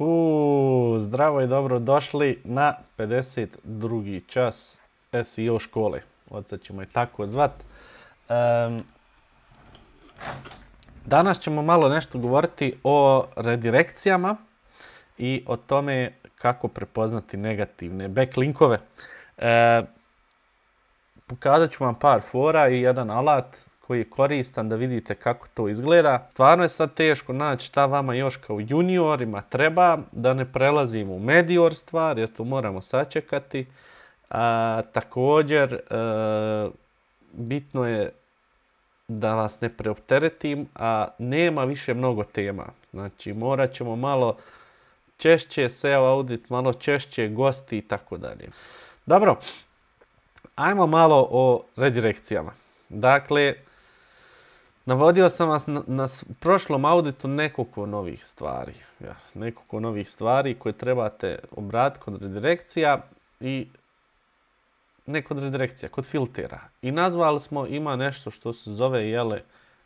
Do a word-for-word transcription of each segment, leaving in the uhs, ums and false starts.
Uuu, zdravo i dobro došli na pedeset drugi čas S E O škole. Od sad ćemo je tako zvat. Um, danas ćemo malo nešto govoriti o redirekcijama i o tome kako prepoznati negativne backlinkove. E, pokazat ću vam par fora i jedan alat koji je koristan da vidite kako to izgleda. Stvarno je sad teško naći šta vama još kao juniorima treba, da ne prelazimo u medior stvar, jer to moramo sačekati. A, također, e, bitno je da vas ne preopteretim, a nema više mnogo tema. Znači, morat ćemo malo češće S E O audit, malo češće gosti i tako dalje. Dobro, ajmo malo o redirekcijama. Dakle, navodio sam vas na, na prošlom auditu nekoliko novih stvari. Ja, nekoliko novih stvari koje trebate obratiti kod redirekcija i ne kod redirekcija, kod filtera. I nazvali smo, ima nešto što se zove jele,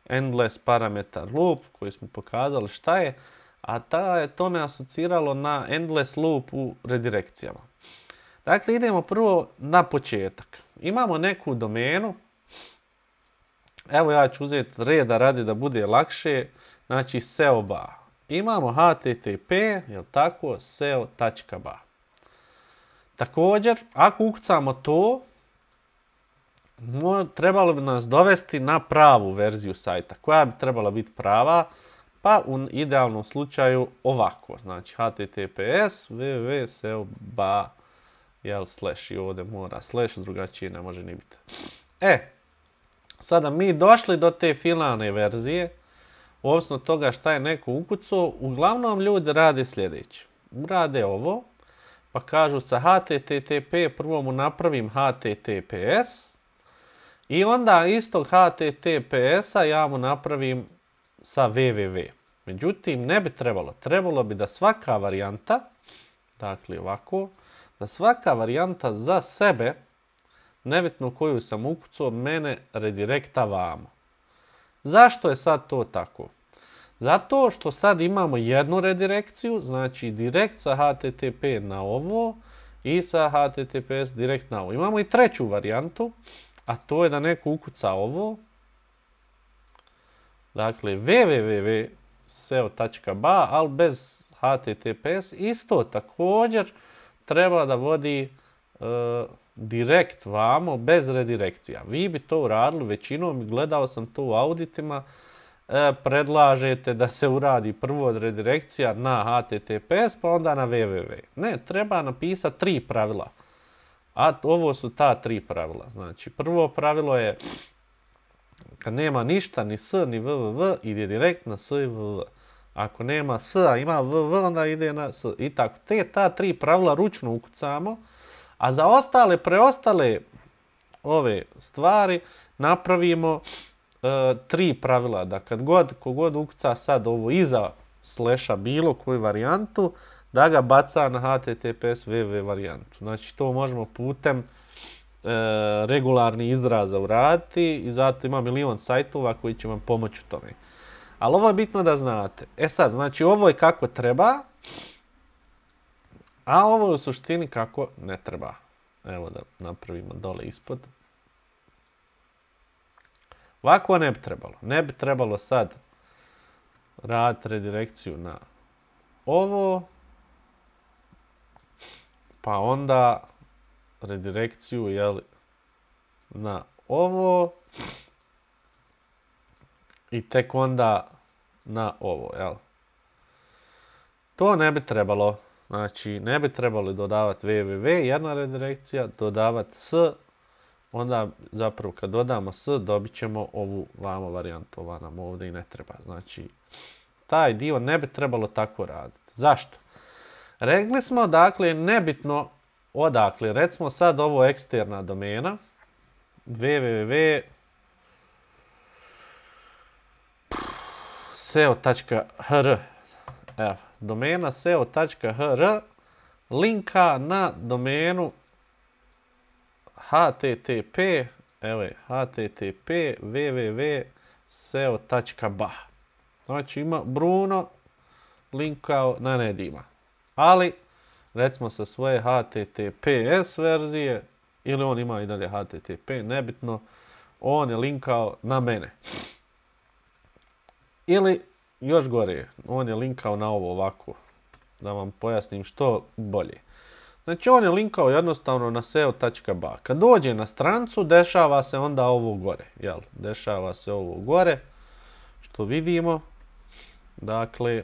endless parametar loop, koji smo pokazali šta je, a ta je to me asociralo na endless loop u redirekcijama. Dakle, idemo prvo na početak. Imamo neku domenu. Evo ja ću uzeti reda radi da bude lakše. Znači S E O ba. Imamo H T T P, jel tako, S E O tačka ba. Također, ako ukucamo to, trebalo bi nas dovesti na pravu verziju sajta. Koja bi trebala biti prava? Pa u idealnom slučaju ovako. Znači H T T P S www S E O ba jel slash i ovdje mora slash, drugačije ne može ni biti. E, sada mi došli do te finalne verzije, ovisno od toga šta je neko ukucao, uglavnom ljudi rade sljedeće. Rade ovo, pa kažu sa H T T P prvo mu napravim H T T P S i onda istog H T T P S-a ja mu napravim sa www. Međutim, ne bi trebalo. Trebalo bi da svaka varijanta, dakle ovako, da svaka varijanta za sebe, nebitno koju sam ukucao, mene redirekta vamo. Zašto je sad to tako? Zato što sad imamo jednu redirekciju, znači direkt sa H T T P na ovo i sa H T T P S direkt na ovo. Imamo i treću varijantu, a to je da neko ukuca ovo. Dakle, www S E O tačka ba, ali bez H T T P S, isto također treba da vodi e, direkt vamo, bez redirekcija. Vi bi to uradili većinom, gledao sam to u auditima, e, predlažete da se uradi prvo od redirekcija na H T T P S, pa onda na www. Ne, treba napisati tri pravila. A ovo su ta tri pravila. Znači, prvo pravilo je kad nema ništa, ni s, ni www, ide direkt na s i www. Ako nema s, a ima www, onda ide na s. I tako. Te ta tri pravila ručno ukucamo, a za ostale, preostale ove stvari napravimo e, tri pravila. Da kad god, kogod ukuca sad ovo iza slasha bilo koju varijantu, da ga baca na H T T P S www varijantu. Znači to možemo putem e, regularni izraza uraditi i zato ima milion sajtova koji će vam pomoći u tome. Ali ovo je bitno da znate. E sad, znači ovo je kako treba, a ovo je u suštini kako ne treba. Evo da napravimo dole ispod. Ovako ne bi trebalo. Ne bi trebalo sad raditi redirekciju na ovo, pa onda redirekciju jel, na ovo i tek onda na ovo. Jel. To ne bi trebalo. Znači, ne bi trebalo dodavati www, jedna redirekcija, dodavati s, onda zapravo kad dodamo s, dobit ćemo ovu vamo varijantu, ova nam ovdje i ne treba. Znači, taj dio ne bi trebalo tako raditi. Zašto? Rekli smo, dakle, nebitno odakle, recimo sad ovo eksterna domena, www S E O tačka H R, evo, domena S E O tačka H R linka na domenu H T T P, evo je, H T T P www S E O tačka ba. Znači ima Bruno linkao na Nedima. Ali, recimo sa svoje H T T P S verzije, ili on ima i dalje H T T P, nebitno, on je linkao na mene. Ili, još gore, on je linkao na ovo ovako, da vam pojasnim što bolje. Znači, on je linkao jednostavno na S E O tačka B A. Kad dođe na strancu, dešava se onda ovo gore, jel? Dešava se ovo gore, što vidimo. Dakle,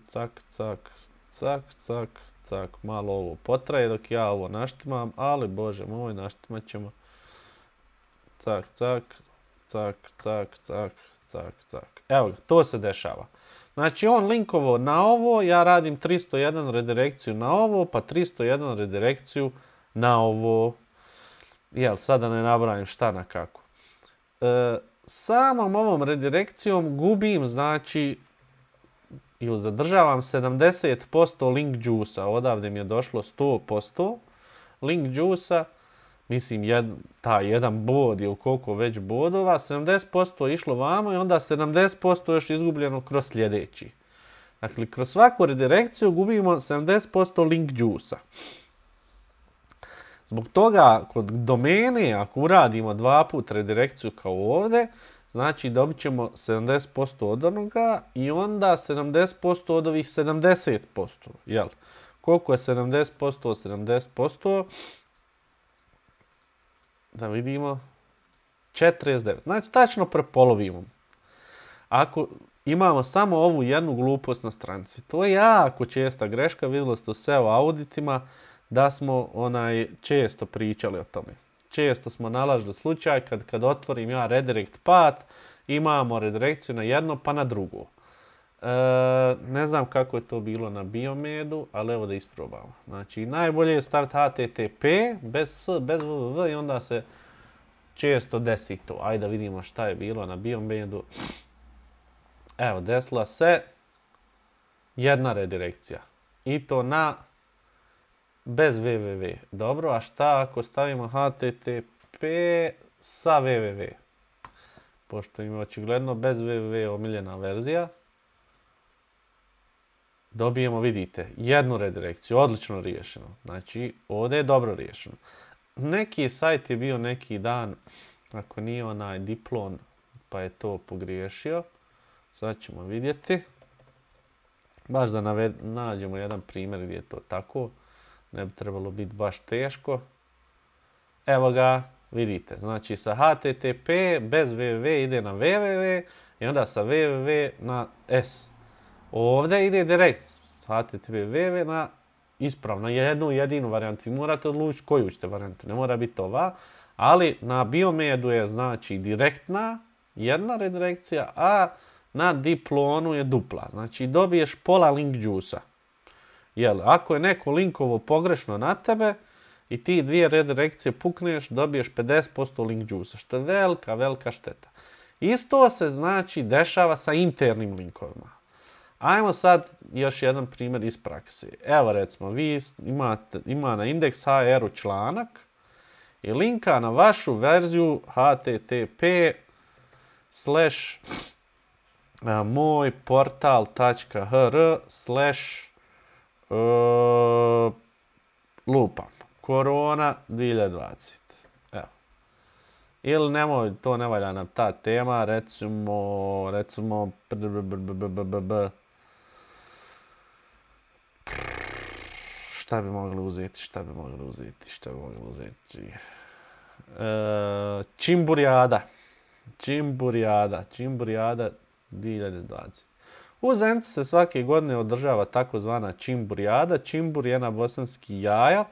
cak, cak, cak, cak, cak, malo ovo potraje dok ja ovo naštimam, ali bože moj, naštimat ćemo. Cak, cak, cak, cak, cak, cak, cak. Evo ga, to se dešava. Znači on linkovo na ovo, ja radim tristo jedan redirekciju na ovo, pa tristo jedan redirekciju na ovo. Jel, sada ne nabrajam šta na kako. E, samom ovom redirekcijom gubim, znači, i zadržavam sedamdeset posto link juice-a. Odavde mi je došlo sto posto link juice-a. Mislim, jed, taj jedan bod je u koliko već bodova, sedamdeset posto je išlo vamo i onda sedamdeset posto još izgubljeno kroz sljedeći. Dakle, kroz svaku redirekciju gubimo sedamdeset posto link juice-a. Zbog toga, kod domene, ako uradimo dva put redirekciju kao ovdje, znači dobit ćemo sedamdeset posto od onoga i onda sedamdeset posto od ovih sedamdeset posto. Jel? Koliko je sedamdeset posto od sedamdeset posto? Da vidimo, četrdeset devet. Znači, tačno prepolovimo. Ako imamo samo ovu jednu glupost na stranici, to je jako česta greška, vidjeli ste u S E O auditima da smo onaj često pričali o tome. Često smo nalažili slučaj kad, kad otvorim ja redirect path, imamo redirekciju na jedno pa na drugo. E, ne znam kako je to bilo na Biomedu, ali evo da isprobamo. Znači, najbolje je staviti H T T P bez S, bez www i onda se često desi to. Ajde da vidimo šta je bilo na Biomedu. Evo, desila se jedna redirekcija. I to na bez www. Dobro, a šta ako stavimo H T T P sa www? Pošto ima očigledno bez www omiljena verzija. Dobijemo, vidite, jednu redirekciju, odlično riješeno. Znači, ovdje je dobro riješeno. Neki sajt je bio neki dan, ako nije onaj Diplon, pa je to pogriješio. Sad ćemo vidjeti. Baš da naved, nađemo jedan primjer gdje je to tako. Ne bi trebalo biti baš teško. Evo ga, vidite. Znači, sa H T T P bez www ide na www i onda sa www na S. Ovdje ide direkt H T T P www na ispravno, jednu jedinu varijantu. Vi morate odlučiti koju ćete varijantu, ne mora biti ova. Ali na Biomedu je znači direktna jedna redirekcija, a na Diplonu je dupla. Znači dobiješ pola link juice-a. Jel, ako je neko linkovo pogrešno na tebe i ti dvije redirekcije pukneš, dobiješ pedeset posto link juice-a, što je velika, velika šteta. Isto se znači dešava sa internim linkovima. Ajmo sad još jedan primjer iz prakse. Evo recimo, vi imate, ima na indeks H R-u članak i linka na vašu verziju H T T P slash moj portal tačka h r slash lupam korona dvije hiljade dvadeset. Evo. Ili nemoj, to ne valja nam ta tema, recimo, recimo, šta bi mogli uzeti, šta bi mogli uzeti, šta bi mogli uzeti. E, Čimburijada. Čimburijada. Čimburijada dvije hiljade dvadeset. U Zenici se svake godine održava takozvana Čimburijada. Čimbur je na bosanski jaja.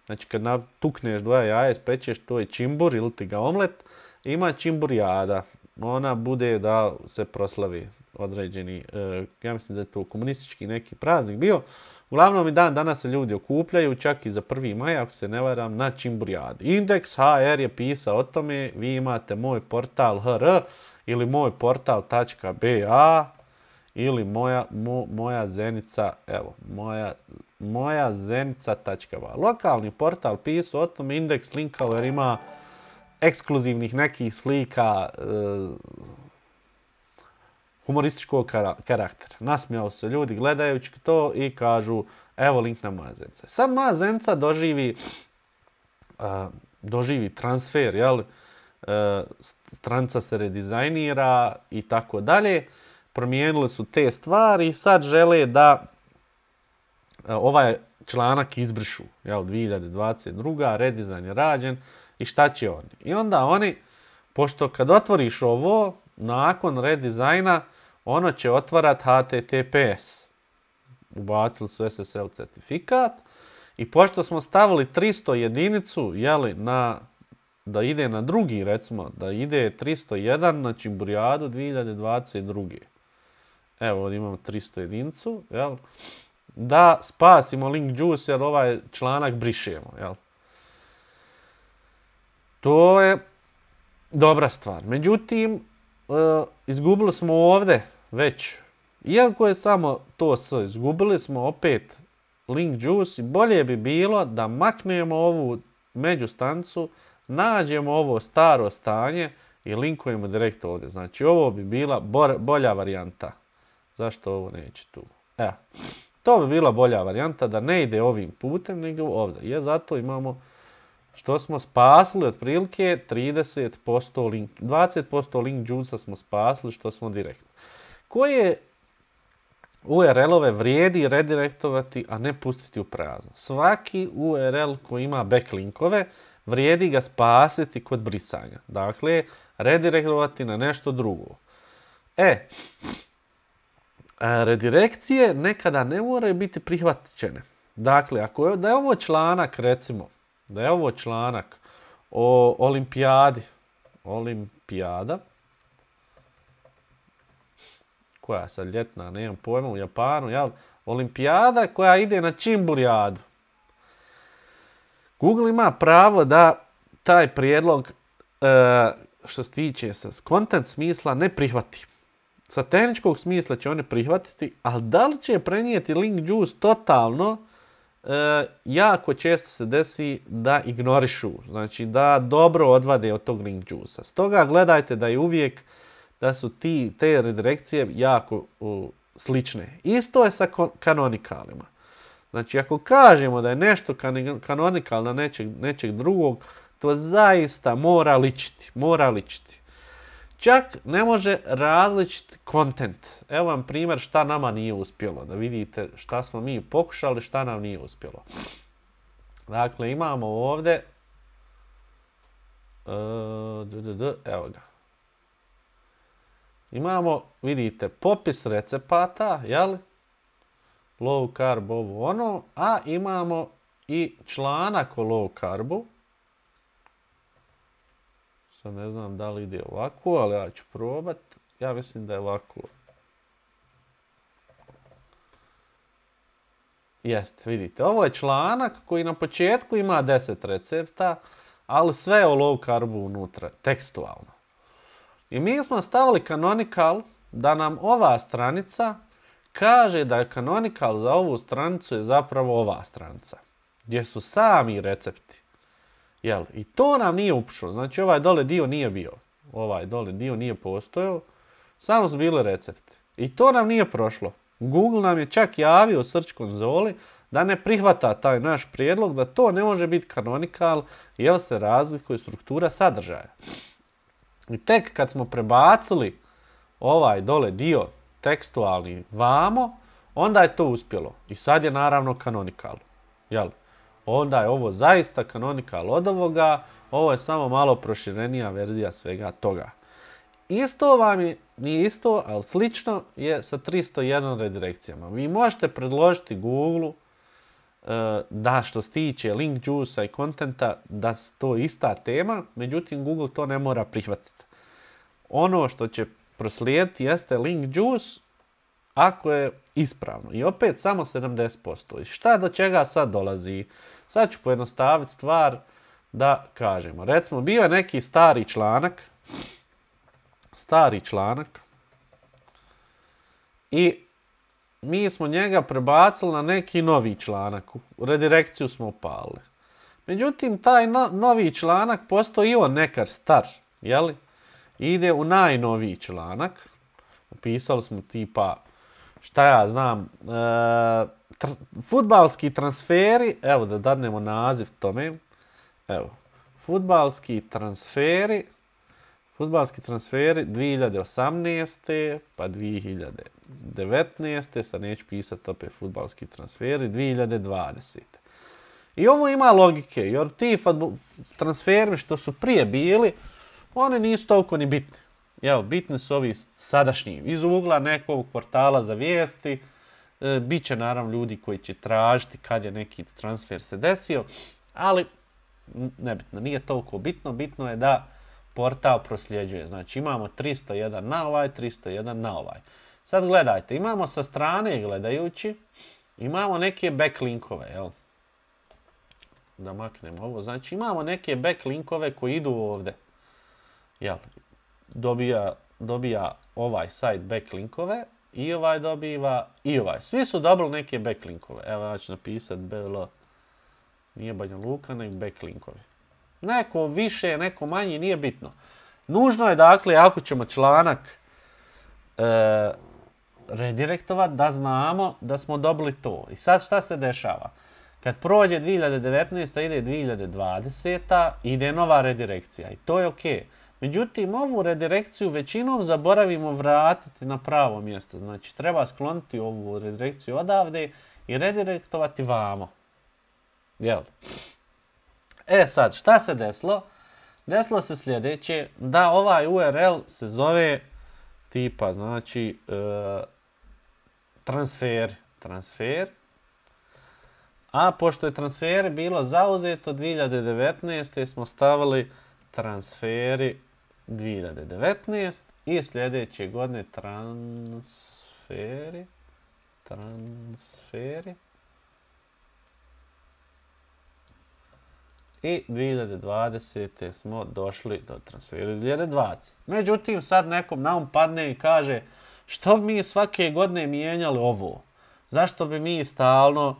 Znači kad tukneš dvoja jaja, ispečeš, to je čimbur ili ti ga omlet. Ima Čimburijada. Ona bude da se proslavi određeni, e, ja mislim da je to komunistički neki praznik bio. Uglavnom i dan danas se ljudi okupljaju, čak i za prvi maj, ako se ne varam, na Čimburijadi. Indeks H R je pisao o tome, vi imate moj portal H R ili moj portal tačka B A ili moja, mo, moja Zenica, evo, moja, moja Zenica tačka B A. Lokalni portal pisao o tome, indeks linkao jer ima ekskluzivnih nekih slika, e, humorističkog karaktera. Nasmijali se ljudi gledajući to i kažu evo link na moja zenca. Sad moja zenca doživi, uh, doživi transfer, jel? Uh, stranica se redizajnira i tako dalje. Promijenili su te stvari i sad žele da uh, ovaj članak izbrišu. Jel? dvije hiljade dvadeset druga. redizajn je rađen i šta će oni? I onda oni, pošto kad otvoriš ovo, nakon redizajna, ono će otvarat H T T P S. Ubacili su S S L certifikat i pošto smo stavili tristo jedinicu, jeli, na, da ide na drugi, recimo, da ide tristo jedan na Čimburijadu dvije hiljade dvadeset druge. Evo, ovdje imamo tristo jedinicu, jel, da spasimo link juice jer ovaj članak brišemo, jel. To je dobra stvar. Međutim, e, izgubili smo ovdje već, iako je samo to s, izgubili smo opet link juice i bolje bi bilo da maknemo ovu međustanicu, nađemo ovo staro stanje i linkujemo direkt ovdje. Znači ovo bi bila bolja varijanta. Zašto ovo neće tu? Evo, to bi bila bolja varijanta da ne ide ovim putem nego ovdje. Je zato imamo što smo spasili otprilike trideset posto link, dvadeset posto link juice smo spasili što smo direktno. Koje U R L-ove vrijedi redirektovati, a ne pustiti u prazno. Svaki U R L koji ima backlinkove vrijedi ga spasiti kod brisanja. Dakle, redirektovati na nešto drugo. E, redirekcije nekada ne moraju biti prihvaćene. Dakle, ako je, da je ovo članak, recimo, da je ovo članak o olimpijadi, olimpijada, koja je sad ljetna, nemam pojma, u Japanu, jel? Olimpijada koja ide na Čimburijadu. Google ima pravo da taj prijedlog, e, što se tiče sa content smisla, ne prihvati. Sa tehničkog smisla će oni prihvatiti, ali da li će prenijeti link juice totalno, e, jako često se desi da ignorišu. Znači da dobro odvade od tog link juice-a. Stoga gledajte da je uvijek da su ti, te redirekcije jako uh, slične. Isto je sa kanonikalima. Znači, ako kažemo da je nešto kanonikalno nečeg, nečeg drugog, to zaista mora ličiti. Mora ličiti. Čak ne može različiti content. Evo vam primjer šta nama nije uspjelo. Da vidite šta smo mi pokušali, šta nam nije uspjelo. Dakle, imamo ovdje uh, d, d, d, evo ga. Imamo, vidite, popis recepata, jel? Low carb, ovo ono, a imamo i članak o low carbu. Sad ne znam da li ide ovako, ali ja ću probat. Ja mislim da je ovako. Jeste, vidite, ovo je članak koji na početku ima deset recepta, ali sve o low carbu unutra, tekstualno. I mi smo stavili canonical da nam ova stranica kaže da je canonical za ovu stranicu je zapravo ova stranica. Gdje su sami recepti. Jel? I to nam nije upušlo. Znači ovaj dole dio nije bio. Ovaj dole dio nije postojao. Samo su bili recepti. I to nam nije prošlo. Google nam je čak javio u search konzoli da ne prihvata taj naš prijedlog, da to ne može biti canonical jer se razlikuje struktura sadržaja. I tek kad smo prebacili ovaj dole dio tekstualni vamo, onda je to uspjelo. I sad je naravno canonical. Jel? Onda je ovo zaista canonical od ovoga, ovo je samo malo proširenija verzija svega toga. Isto vam je, nije isto, ali slično je sa tristo jedan redirekcijama. Vi možete predložiti Google da što se tiče link juice-a i kontenta da to je ista tema, međutim Google to ne mora prihvatiti. Ono što će proslijediti jeste link juice ako je ispravno. I opet samo sedamdeset posto. I šta do čega sad dolazi? Sad ću pojednostaviti stvar da kažemo. Recimo, bio je neki stari članak, stari članak i mi smo njega prebacili na neki novi članak. Redirekciju smo upalili. Međutim, taj no, novi članak postoji on nekar star, jeli? Ide u najnoviji članak. pisali smo tipa, šta ja znam, e, tr fudbalski transferi, evo da dadnemo naziv tome, evo, fudbalski transferi, fudbalski transferi dvije hiljade osamnaeste. pa dvije hiljade devetnaeste. sad neću pisati opet fudbalski transferi, dvije hiljade dvadesete. I ovo ima logike, jer ti transferi što su prije bili, oni nisu toliko ni bitni. Evo, bitni su ovi sadašnji. Iz ugla nekog portala za vijesti, e, bit će naravno ljudi koji će tražiti kad je neki transfer se desio, ali nebitno, nije toliko bitno. Bitno je da portal prosljeđuje. Znači imamo tristo jedan na ovaj, tristo jedan na ovaj. Sad gledajte, imamo sa strane gledajući, imamo neke backlinkove, jel? Da maknemo ovo. Znači imamo neke backlinkove koji idu ovdje. Jel? Dobija, dobija ovaj sajt backlinkove i ovaj dobiva i ovaj. Svi su dobili neke backlinkove. Evo ja ću napisati B L, nije Banja Luka, nego backlinkovi. Neko više, neko manje, nije bitno. Nužno je dakle, ako ćemo članak e, redirektovati, da znamo da smo dobili to. I sad šta se dešava? Kad prođe dvije hiljade devetnaesta. ide dvije hiljade dvadeseta. ide nova redirekcija i to je ok. Međutim, ovu redirekciju većinom zaboravimo vratiti na pravo mjesto. Znači, treba skloniti ovu redirekciju odavde i redirektovati vamo. Jel? E sad, šta se desilo? Desilo se sljedeće, da ovaj U R L se zove tipa, znači, e, transfer. Transfer. A pošto je transfer bilo zauzeto dvije hiljade devetnaeste. smo stavili transferi dvije hiljade devetnaeste. i sljedeće godine transferi. Transferi. I dvije hiljade dvadesete. smo došli do transfera dvije hiljade dvadesete. Međutim, sad nekom na um padne i kaže što bi mi svake godine mijenjali ovo? Zašto bi mi stalno uh,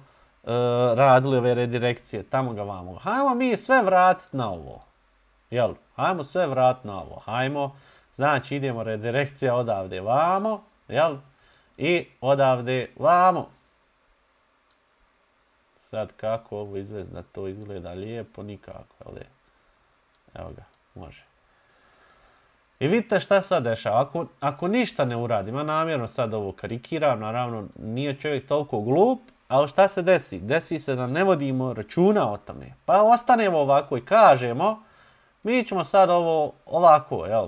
radili ove redirekcije tamo ga vamo? Hajmo mi sve vratiti na ovo. Jel? Hajmo sve vratiti na ovo. Hajmo, znači idemo redirekcija odavde vamo, jel? I odavde vamo. Sad kako ovo izvesti da to izgleda lijepo, nikako, ali evo ga, može. I vidite šta sad dešava, ako, ako ništa ne uradim, ja namjerno sad ovo karikiram, naravno nije čovjek toliko glup, ali šta se desi? Desi se da ne vodimo računa o tome, pa ostanemo ovako i kažemo, mi ćemo sad ovo ovako, jel?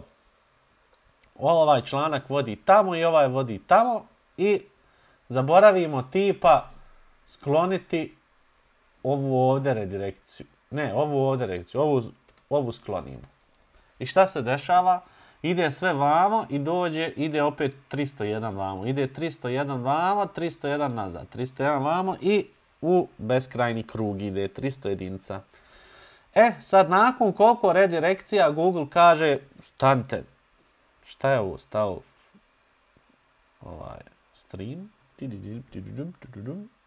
Ovaj članak vodi tamo i ovaj vodi tamo i zaboravimo tipa skloniti ovu ovdje redirekciju. Ne, ovu ovdje redirekciju, ovu, ovu sklonimo. I šta se dešava? Ide sve vamo i dođe, ide opet tristo jedan vamo. Ide tristo jedan vamo, tristo jedan nazad. tristo jedan vamo i u beskrajni krug ide tristo jedinica. E, sad nakon koliko redirekcija Google kaže, stante, šta je ovo stao? Ovaj, stream.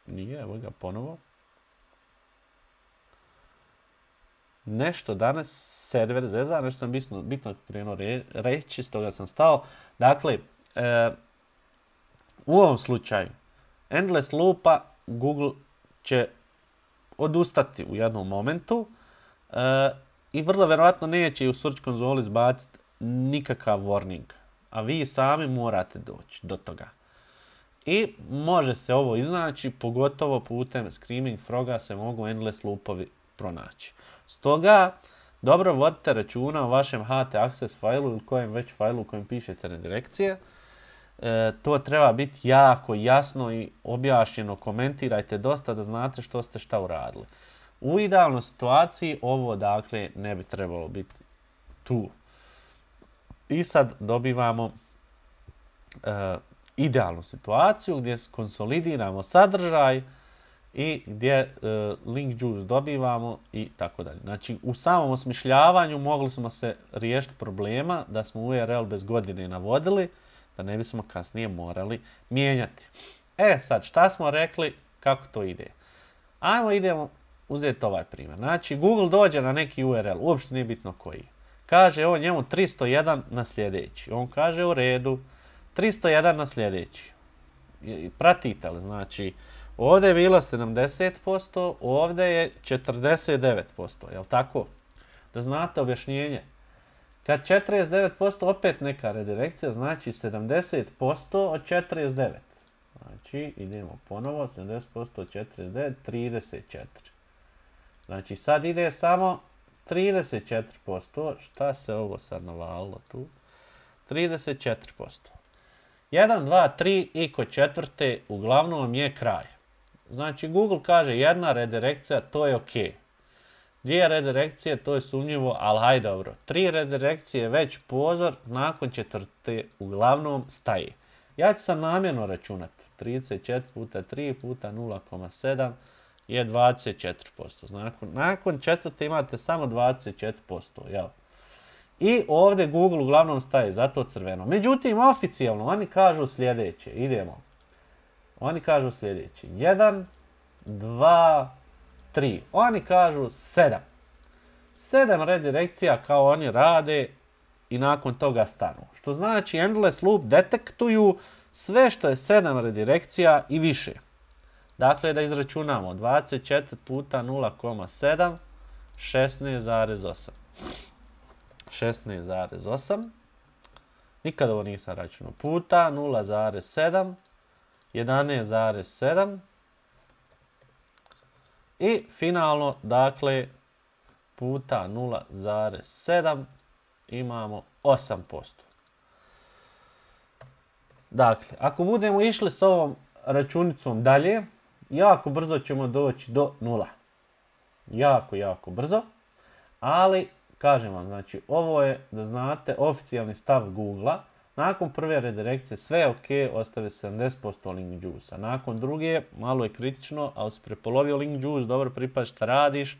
Nije, evo ga ponovo. Nešto danas server zeza, nešto sam bitno, bitno krenuo re, reći, stoga sam stao. Dakle, e, u ovom slučaju, endless loopa Google će odustati u jednom momentu e, i vrlo vjerojatno neće u search konzoli izbaciti nikakav warning. A vi sami morate doći do toga. I može se ovo iznaći, pogotovo putem Screaming Froga se mogu endless loopovi pronaći. Stoga, dobro vodite računa o vašem H T access failu ili kojem već failu u kojem pišete redirekcije. E, to treba biti jako jasno i objašnjeno. Komentirajte dosta da znate što ste šta uradili. U idealnoj situaciji ovo dakle ne bi trebalo biti tu. I sad dobivamo e, idealnu situaciju gdje konsolidiramo sadržaj i gdje uh, link juice dobivamo i tako dalje. Znači, u samom osmišljavanju mogli smo se riješiti problema da smo U R L bez godine navodili, da ne bismo kasnije morali mijenjati. E, sad, šta smo rekli, kako to ide? Ajmo, idemo uzeti ovaj primjer. Znači, Google dođe na neki U R L, uopšte nije bitno koji. Kaže on njemu tristo jedan na sljedeći. On kaže u redu, tristo jedan na sljedeći. Pratite li? Znači, ovdje je bilo sedamdeset posto, ovdje je četrdeset devet posto, jel tako? Da znate objašnjenje. Kad četrdeset devet posto opet neka redirekcija, znači sedamdeset posto od četrdeset devet. Znači, idemo ponovo, sedamdeset posto od četrdeset devet, trideset četiri. Znači, sad ide samo trideset četiri posto. Šta se ovo sad navalilo tu? trideset četiri posto. jedan, dva, tri i kod četvrte uglavnom je kraj. Znači, Google kaže jedna redirekcija, to je ok. Dvije redirekcije, to je sumnjivo, ali hajde dobro. Tri redirekcije već pozor, nakon četvrte uglavnom staje. Ja ću sad namjerno računati. trideset četiri puta tri puta nula zarez sedam je dvadeset četiri posto. Nakon, nakon četvrte imate samo dvadeset četiri posto. Jel? I ovdje Google uglavnom staje, zato crveno. Međutim, oficijalno oni kažu sljedeće. Idemo. Oni kažu sljedeće. jedan, dva, tri. Oni kažu sedam. sedam redirekcija kao oni rade i nakon toga stanu. Što znači endless loop detektuju sve što je sedam redirekcija i više. Dakle, da izračunamo. dvadeset četiri puta nula zarez sedam, šesnaest zarez osam. šesnaest zarez osam. Nikad ovo nisam računao. Puta nula zarez sedam, jedanaest zarez sedam. I finalno, dakle, puta nula zarez sedam imamo osam posto. Dakle, ako budemo išli s ovom računicom dalje, jako brzo ćemo doći do nula. Jako, jako brzo. Ali, kažem vam, znači, ovo je, da znate, oficijalni stav Google-a. Nakon prve redirekcije sve je ok, ostave sedamdeset posto link juice-a. Nakon druge, malo je kritično, ali si prepolovio link juice, dobro pripazi šta radiš.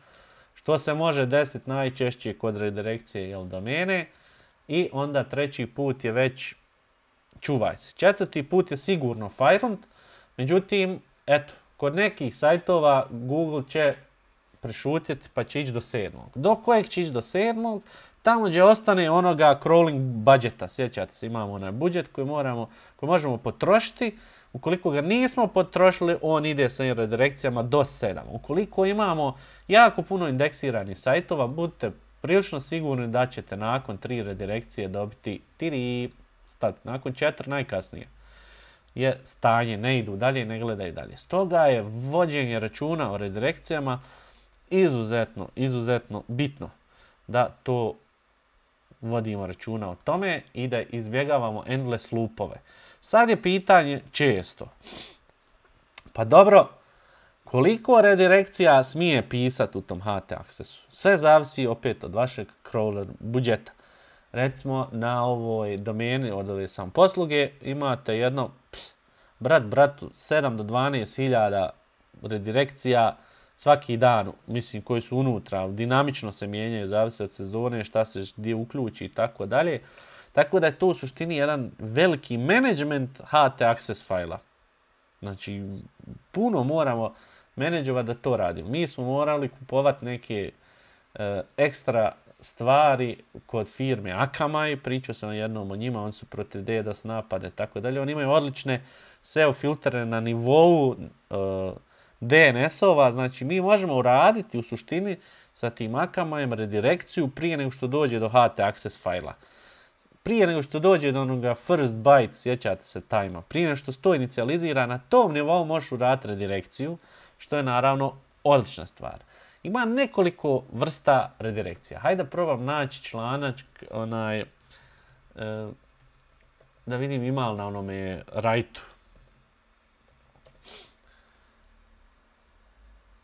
Što se može desiti najčešće kod redirekcije jel, domene. I onda treći put je već čuvaj se. Četvrti put je sigurno fajrunt. Međutim, eto, kod nekih sajtova Google će prešutjeti pa će ići do sedmog. Do kojeg će ići do sedmog? Tamo gdje ostane onoga crawling budžeta. Sjećate se, imamo onaj budžet koji, moramo, koji možemo potrošiti. Ukoliko ga nismo potrošili, on ide sa redirekcijama do sedam. Ukoliko imamo jako puno indeksiranih sajtova, budite prilično sigurni da ćete nakon tri redirekcije dobiti tri, stat, nakon četiri najkasnije. Je stanje, ne idu dalje, ne gledaju dalje. Stoga je vođenje računa o redirekcijama izuzetno, izuzetno bitno da to vodimo računa o tome i da izbjegavamo endless loopove. Sad je pitanje često. Pa dobro, koliko redirekcija smije pisati u tom H T Accessu? Sve zavisi opet od vašeg crawler budžeta. Recimo na ovoj domeni od ove sam posluge imate jedno, ps, brat bratu, sedam do dvanaest hiljada redirekcija svaki dan, mislim, koji su unutra, dinamično se mijenjaju, zavisi od sezone, šta se gdje uključi i tako dalje. Tako da je to u suštini jedan veliki management H T Access fajla. Znači, puno moramo menadžovati da to radimo. Mi smo morali kupovati neke e, ekstra stvari kod firme Akamai, pričao sam jednom o njima, oni su protiv DDoS napade i tako dalje. Oni imaju odlične S E O filtere na nivou e, D N S-ova, znači mi možemo uraditi u suštini sa tim Akamaijem redirekciju prije nego što dođe do H T Access fajla. Prije nego što dođe do onoga first byte, sjećate se tajma, prije nego što se to inicijalizira, na tom nivou možeš uraditi redirekciju, što je naravno odlična stvar. Ima nekoliko vrsta redirekcija. Hajde da probam naći članak, onaj, e, da vidim ima li na onome rajtu.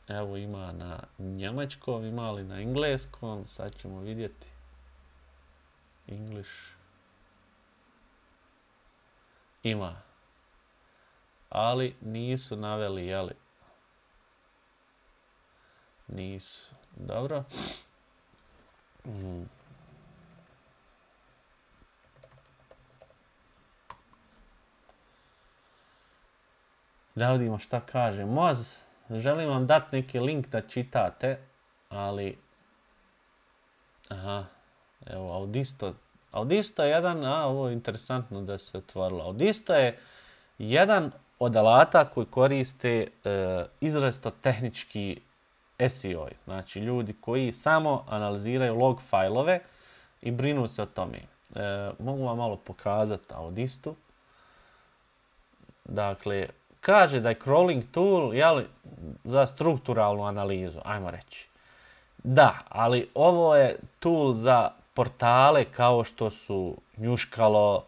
Evo ima na njemačkom, ima li na engleskom, sad ćemo vidjeti. English. Ima. Ali nisu naveli, jeli? Nisu. Dobro. Mm. Da vidimo šta kaže Moz. Želim vam dati neki link da čitate, ali... Aha, evo, Audisto Audisto je jedan, a ovo je interesantno da se otvorilo. Audisto je jedan od alata koji koriste e, izrazito tehnički S E O. Znači ljudi koji samo analiziraju log fajlove i brinu se o tome. E, mogu vam malo pokazati Audistu. Dakle, kaže da je crawling tool jeli, za strukturalnu analizu, ajmo reći. Da, ali ovo je tool za portale kao što su Njuškalo,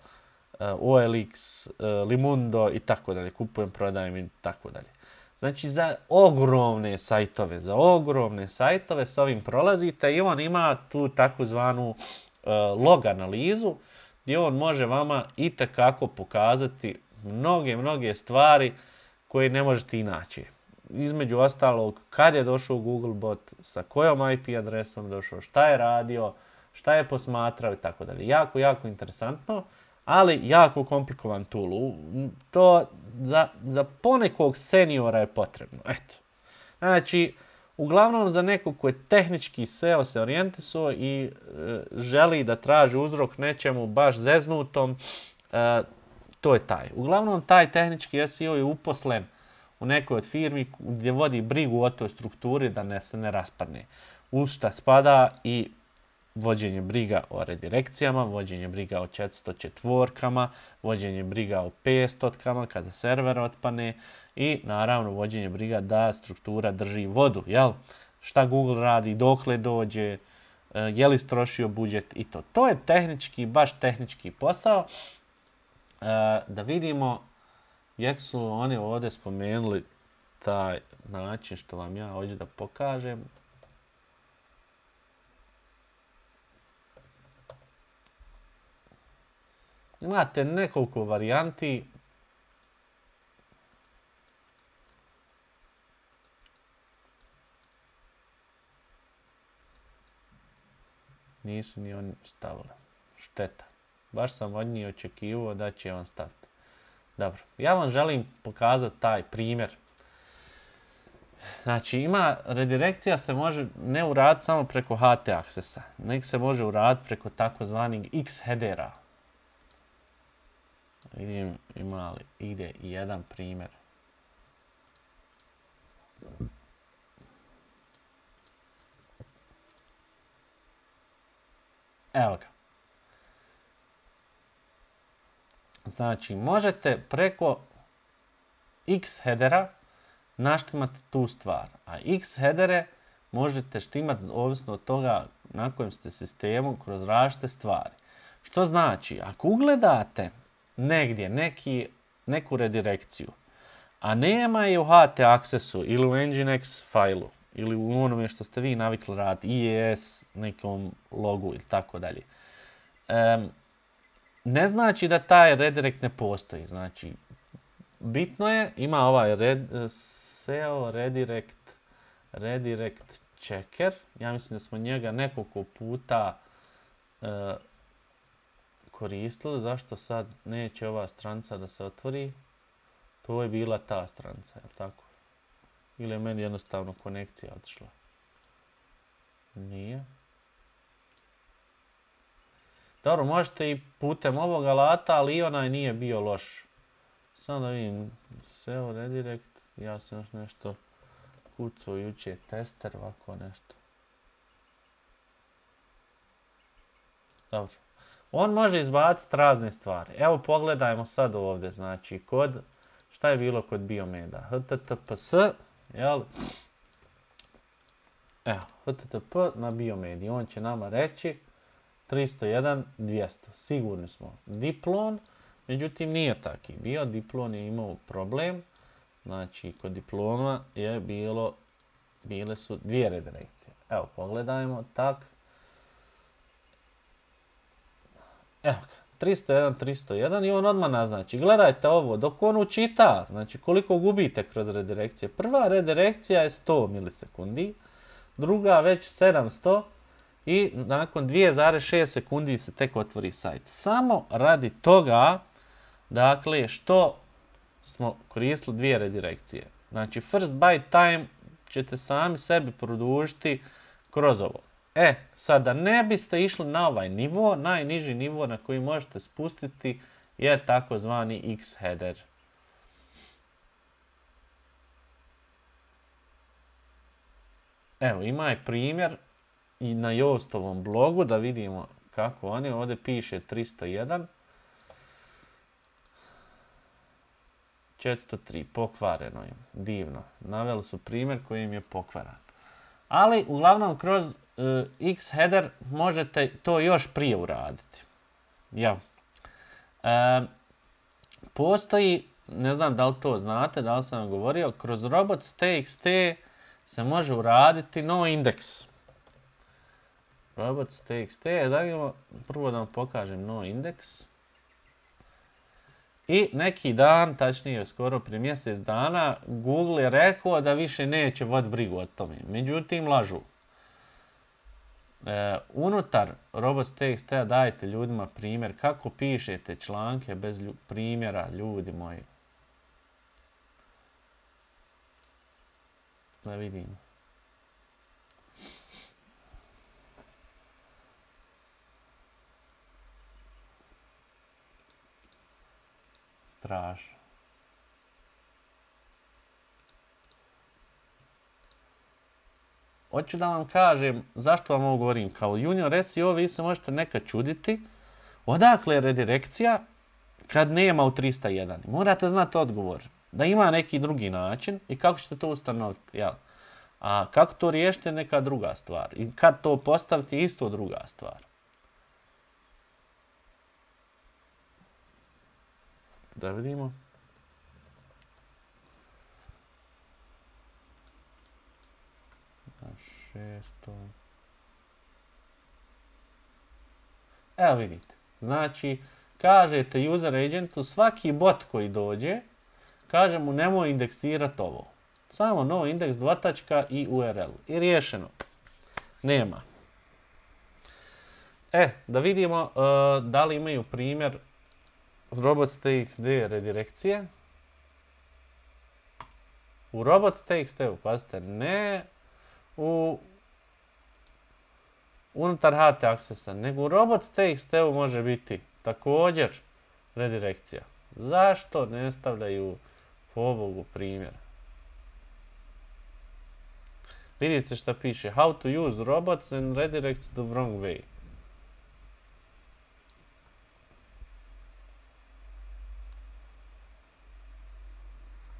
O L X, Limundo i tako dalje, kupujem, prodajem i tako dalje. Znači za ogromne sajtove, za ogromne sajtove s ovim prolazite i on ima tu takozvanu uh, log analizu gdje on može vama itekako pokazati mnoge, mnoge stvari koje ne možete inače. Između ostalog, kad je došao Googlebot, sa kojom I P adresom došao, šta je radio, šta je posmatrao i tako dalje. Jako, jako interesantno, ali jako komplikovan tool. To za, za ponekog seniora je potrebno. Eto. Znači, uglavnom za nekog ko je tehnički S E O se orijentisuo i e, želi da traži uzrok nečemu baš zeznutom, e, to je taj. Uglavnom, taj tehnički S E O je uposlen u nekoj od firmi gdje vodi brigu o toj strukturi da ne se ne raspadne. U šta spada i vođenje briga o redirekcijama, vođenje briga o četiristo četvorkama, vođenje briga o petstotkama kada server otpane i naravno vođenje briga da struktura drži vodu. Jel? Šta Google radi, dokle dođe, je li strošio budžet i to. To je tehnički, baš tehnički posao. Da vidimo, jak su oni ovdje spomenuli taj način što vam ja hoću da pokažem. Imate nekoliko varijanti. Nisu ni oni stavili. Šteta. Baš sam od njih očekivao da će on staviti. Dobro. Ja vam želim pokazati taj primjer. Znači, ima redirekcija se može ne uraditi samo preko H T Accessa. Nek se može uraditi preko takozvanih X headera. Vidim ima li ide i jedan primjer. Evo ga. Znači, možete preko X headera naštimati tu stvar. A X headere možete štimati ovisno od toga na kojem ste sistemu kroz različite stvari. Što znači, ako ugledate negdje neki, neku redirekciju, a nema je u H T Accessu ili u Nginx failu ili u onome što ste vi navikli raditi, I E S, nekom logu ili tako dalje. Ne znači da taj redirekt ne postoji. Znači, bitno je, ima ovaj red, S E O redirect, redirect checker. Ja mislim da smo njega nekoliko puta uh, koristili. Zašto sad neće ova stranica da se otvori? To je bila ta stranica, je li tako? Ili je meni jednostavno konekcija otišla? Nije. Dobro, možete i putem ovog alata, ali i onaj nije bio loš. Samo da vidim, S E O redirect, ja sam još nešto kucao juče, tester, ovako nešto. Dobro. On može izbaciti razne stvari. Evo pogledajmo sad ovdje, znači kod, šta je bilo kod Biomeda? H T T P S, jel? Evo, H T T P na Biomedi, on će nama reći tristo jedan dvjesto, sigurni smo. Diplon, međutim nije taki bio, Diplon je imao problem, znači kod diploma je bilo, bile su dvije redirekcije. Evo, pogledajmo, tak. Evo ga, tristo jedan tristo jedan i on odmah naznači. Gledajte ovo, dok on učita, znači koliko gubite kroz redirekcije. Prva redirekcija je sto milisekundi, druga već sedamsto i nakon dvije zarez šest sekundi se tek otvori sajt. Samo radi toga, dakle, što smo koristili dvije redirekcije. Znači, first byte time ćete sami sebi produžiti kroz ovo. E, sada ne biste išli na ovaj nivo, najniži nivo na koji možete spustiti je takozvani X-header. Evo, ima je primjer i na Jostovom blogu da vidimo kako oni. Ovdje piše tristo jedan. četiristo tri, pokvareno je, divno. Naveli su primjer koji im je pokvaran. Ali, uglavnom, kroz uh, X-header možete to još prije uraditi. Ja. E, postoji, ne znam da li to znate, da li sam vam govorio, kroz robots.txt se može uraditi noindex. robots.txt, da imamo, prvo da vam pokažem noindex. I neki dan, tačnije skoro prije mjesec dana, Google je rekao da više neće voditi brigu o tome. Međutim, lažu. E, unutar robots.txt dajte ljudima primjer kako pišete članke bez lju- primjera, ljudi moji. Da vidimo. Strašno. Hoću da vam kažem zašto vam ovo govorim. Kao junior S E O vi se možete nekad čuditi odakle je redirekcija kad nema u tristo jedan. Morate znati odgovor. Da ima neki drugi način i kako ćete to ustanoviti. Ja. A kako to riješite je neka druga stvar. I kad to postaviti isto druga stvar. Da vidimo. šesto. Evo vidite. Znači, kažete user agentu svaki bot koji dođe, kaže mu nemoj indeksirati ovo. Samo no indeks dvotačka i U R L. I riješeno. Nema. E, da vidimo uh, da li imaju primjer robots.txt redirekcije. U robots.txt, pazite, ne u unutar H T Accessa, nego u robots.txt može biti također redirekcija. Zašto ne stavljaju pobogu primjer? Vidite šta piše. How to use robots and redirects the wrong way.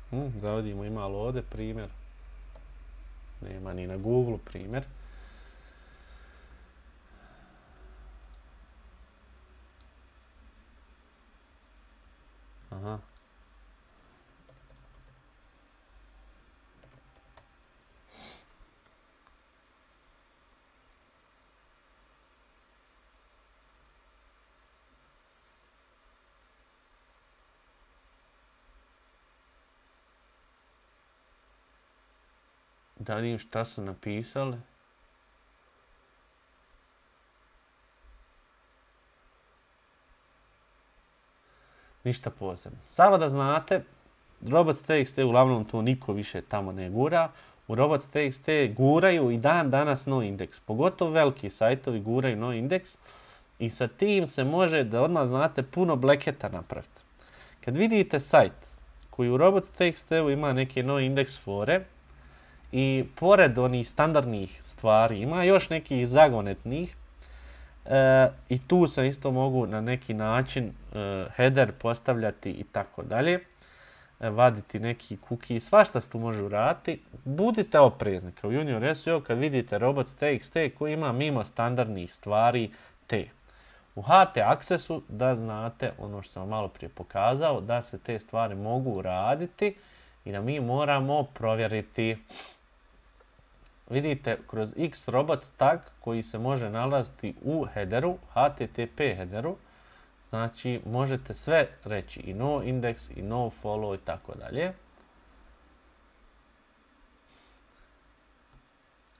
Hmm, da vidimo ima li ovdje primjer. Nema ni na Google primjer. Aha. Da vidim šta su napisali. Ništa posebno. Samo da znate, robots.txt uglavnom to niko više tamo ne gura. U robots.txt guraju i dan danas noindex. Pogotovo veliki sajtovi guraju noindex i sa tim se može, da odmah znate, puno bleketa napraviti. Kad vidite sajt koji u robots.txt ima neke noindex fore, i pored onih standardnih stvari ima još nekih zagonetnih e, i tu se isto mogu na neki način e, header postavljati i tako dalje, e, vaditi neki cookie, svašta se tu može uraditi. Budite oprezni kao junior S E O kad vidite robots.txt koji ima mimo standardnih stvari te. U H T Accessu da znate ono što sam malo prije pokazao, da se te stvari mogu uraditi i da mi moramo provjeriti. Vidite kroz X-robots tag koji se može nalaziti u headeru, H T T P headeru. Znači možete sve reći i no index i no follow i tako dalje.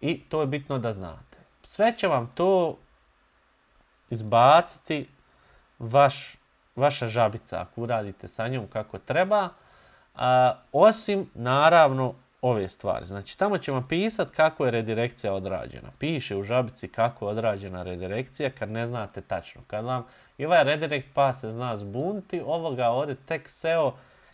I to je bitno da znate. Sve će vam to izbaciti vaš, vaša žabica ako uradite sa njom kako treba. A, osim naravno ove stvari. Znači, tamo ćemo pisati kako je redirekcija odrađena. Piše u žabici kako je odrađena redirekcija kad ne znate tačno. Kad vam i ovaj redirect path se zna zbuniti, ovoga ovdje tek S E O,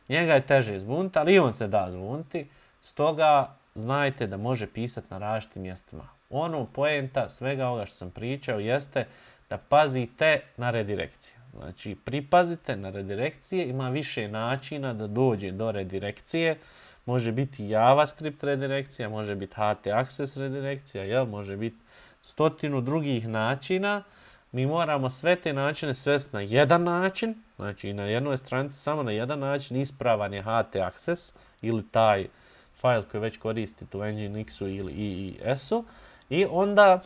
njega je teže zbuniti, ali i on se da zbuniti. Stoga znajte da može pisati na različitim mjestima. Ono poenta svega ovoga što sam pričao jeste da pazite na redirekcije. Znači, pripazite na redirekcije, ima više načina da dođe do redirekcije. Može biti JavaScript redirekcija, može biti H T Access redirekcija, jel? Može biti stotinu drugih načina. Mi moramo sve te načine svesti na jedan način, znači na jednoj stranici samo na jedan način, ispravan je H T Access ili taj fajl koji već koristite u Nginx-u ili I I S-u i onda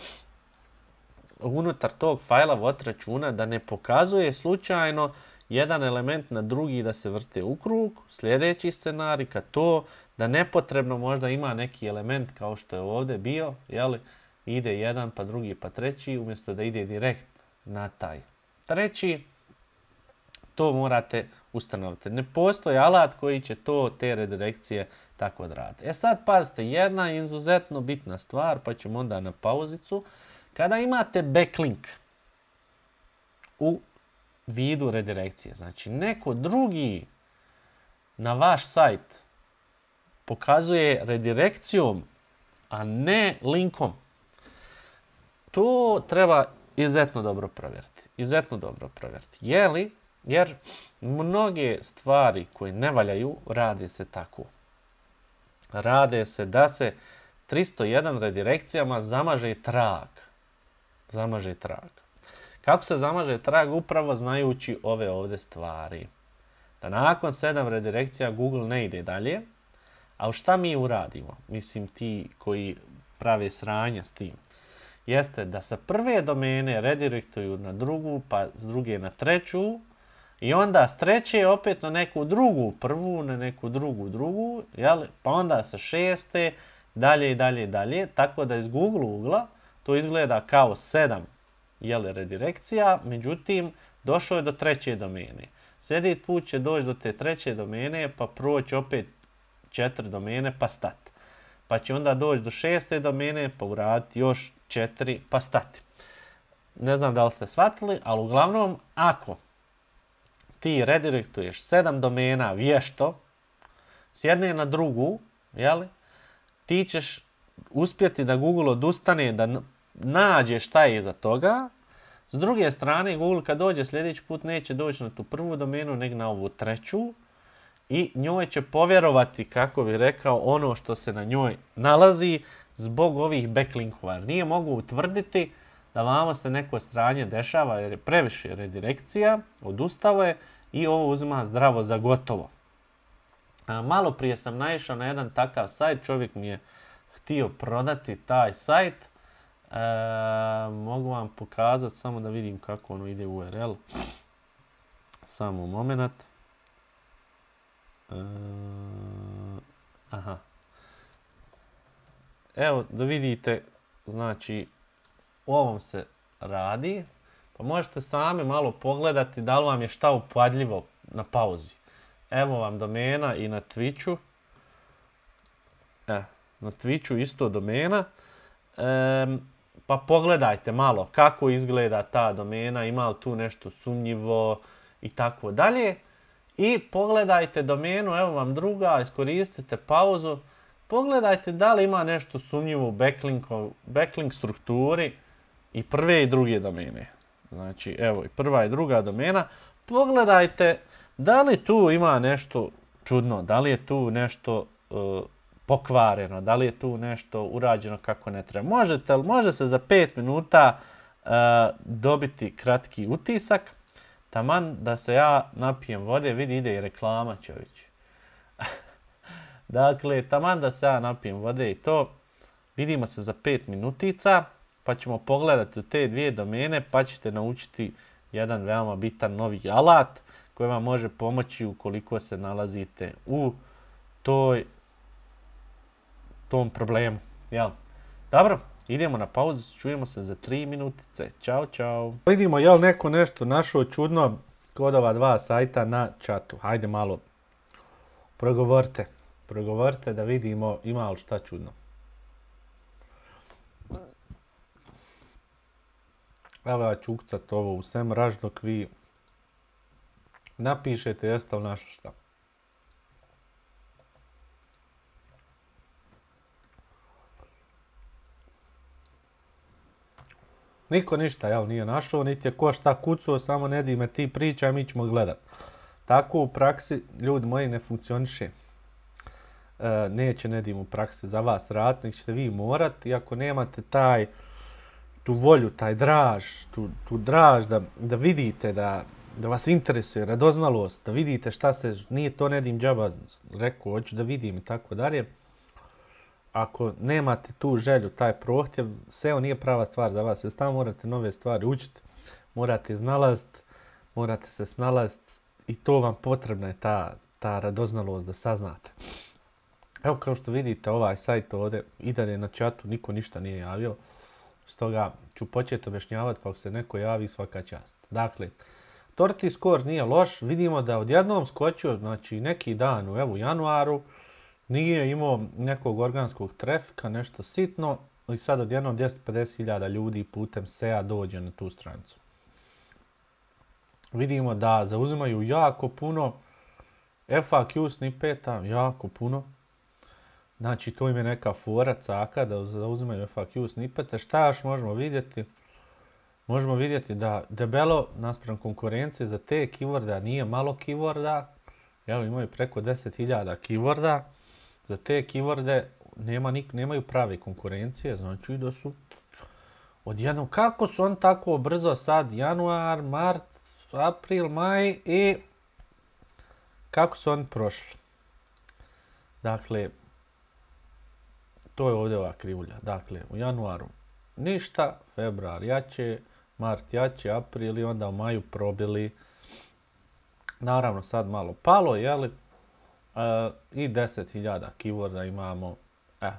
unutar tog fajla vodite računa da ne pokazuje slučajno jedan element na drugi da se vrte u krug. Sljedeći scenarij kad to da nepotrebno možda ima neki element kao što je ovdje bio, jeli, ide jedan pa drugi pa treći umjesto da ide direkt na taj treći. To morate ustanoviti. Ne postoji alat koji će to, te redirekcije tako odraditi. E sad pazite, jedna izuzetno bitna stvar, pa ćemo onda na pauzicu. Kada imate backlink u vidu redirekcije, znači neko drugi na vaš sajt pokazuje redirekcijom, a ne linkom, to treba izuzetno dobro provjeriti. Izuzetno dobro provjeriti. Je li? Jer mnoge stvari koje ne valjaju rade se tako. Rade se da se tristo jedan redirekcijama zamaže trag. Zamaže trag. Kako se zamaže trag? Upravo znajući ove ovdje stvari. Da nakon sedam redirekcija Google ne ide dalje. A šta mi uradimo? Mislim, ti koji prave sranja s tim. Jeste da sa prve domene redirektuju na drugu, pa s druge na treću. I onda s treće opet na neku drugu prvu, na neku drugu drugu. Jel? Pa onda sa šeste, dalje i dalje i dalje. Tako da iz Google ugla to izgleda kao sedam jel, redirekcija, međutim došao je do treće domene. Sljedeći put će doći do te treće domene, pa proći opet četiri domene, pa stati. Pa će onda doći do šeste domene, pa uraditi još četiri, pa stati. Ne znam da li ste shvatili, ali uglavnom, ako ti redirektuješ sedam domena vješto, s jedne na drugu, jel, ti ćeš uspjeti da Google odustane, da nađe šta je iza toga. S druge strane, Google kad dođe sljedeći put neće doći na tu prvu domenu, nego na ovu treću. I njoj će povjerovati, kako bi rekao, ono što se na njoj nalazi zbog ovih backlinkova. Nije mogu utvrditi da vamo se neko sranje dešava jer je previše redirekcija, odustao je i ovo uzima zdravo za gotovo. A, malo prije sam naišao na jedan takav sajt, čovjek mi je htio prodati taj sajt. E, mogu vam pokazati samo da vidim kako ono ide u U R L. Samo moment. E, aha. Evo da vidite, znači o ovom se radi. Pa možete sami malo pogledati da li vam je šta upadljivo na pauzi. Evo vam domena i na Twitchu. E, na Twitchu isto domena. E, pa pogledajte malo kako izgleda ta domena, ima li tu nešto sumnjivo i tako dalje. I pogledajte domenu, evo vam druga, iskoristite pauzu. Pogledajte da li ima nešto sumnjivo u backlink strukturi i prve i druge domene. Znači, evo i prva i druga domena. Pogledajte da li tu ima nešto čudno, da li je tu nešto uh, pokvareno, da li je tu nešto urađeno kako ne treba. Možete, može se za pet minuta uh, dobiti kratki utisak. Taman da se ja napijem vode, vidi ide i reklama čovječ. Dakle, taman da se ja napijem vode i to, vidimo se za pet minutica, pa ćemo pogledati te dvije domene, pa ćete naučiti jedan veoma bitan novi alat koji vam može pomoći ukoliko se nalazite u toj, tom problemu. Jel? Dobro, idemo na pauzu, čujemo se za tri minutice. Ćao, čao. Vidimo, jel neko nešto našao čudno kod ova dva sajta na čatu. Hajde malo, progovorite. Progovorite da vidimo ima li šta čudno. Evo ja ću ukucat ovo u SEMrush dok vi napišete jeste li našli šta. Niko ništa, jel, nije našao, niti je ko šta kucao, samo ne di me ti pričaj, mi ćemo gledat. Tako u praksi, ljudi moji, ne funkcioniše. E, neće Nedim u praksi za vas raditi, nek ćete vi morat, i ako nemate taj, tu volju, taj draž, tu, tu draž da, da vidite, da, da vas interesuje, radoznalost, da vidite šta se, nije to Nedim džaba rekao, hoću da vidim i tako dalje. Ako nemate tu želju, taj prohtjev, S E O nije prava stvar za vas, jer tamo morate nove stvari učiti, morate iznalaziti, morate se snalaziti i to vam potrebna je ta, ta radoznalost da saznate. Evo kao što vidite ovaj sajt ovdje i dalje na chatu, niko ništa nije javio, stoga ću početi objašnjavati pa ako se neko javi svaka čast. Dakle, Torti Score nije loš, vidimo da odjednom skočio, znači neki dan u evo, januaru, nije imao nekog organskog trafika, nešto sitno, i sad odjednom dvjesto pedeset hiljada ljudi putem S E A dođe na tu stranicu. Vidimo da zauzimaju jako puno F A Q snippeta, jako puno. Znači to im je neka fora caka da zauzimaju F A Q snippete. Šta još možemo vidjeti? Možemo vidjeti da debelo naspram konkurencije za te keyworda nije malo keyworda. Evo imaju preko deset hiljada keyworda. Za te keyworde nema nik, nemaju prave konkurencije, znači da su odjednom, kako su on tako brzo sad, januar, mart, april, maj i kako su oni prošli. Dakle, to je ovdje ova krivulja. Dakle, u januaru ništa, februar jače, mart jače, april i onda u maju probili. Naravno sad malo palo, jeli? Uh, i deset hiljada keyworda imamo. Eh.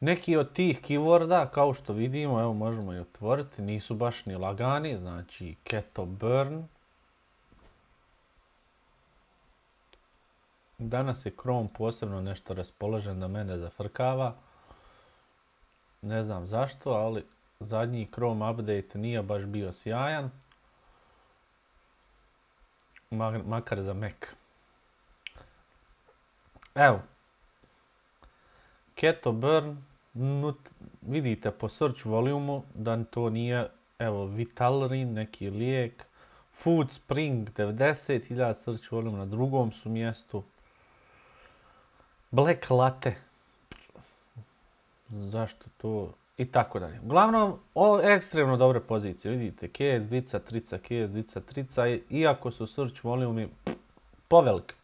Neki od tih keyworda, kao što vidimo, evo možemo i otvoriti, nisu baš ni lagani, znači keto burn. Danas je Chrome posebno nešto raspoložen da mene zafrkava. Ne znam zašto, ali zadnji Chrome update nije baš bio sjajan. Makar za Mac. Evo, Keto Burn, nut, vidite po search volumu da to nije, evo, Vitalrin, neki lijek, Food Spring, devedeset hiljada search volume, na drugom su mjestu, Black Latte, zašto to, i tako dalje. Uglavnom, o, ekstremno dobre pozicije, vidite, K S dvica, trica, K S dvica, trica, iako su search volumi povelike.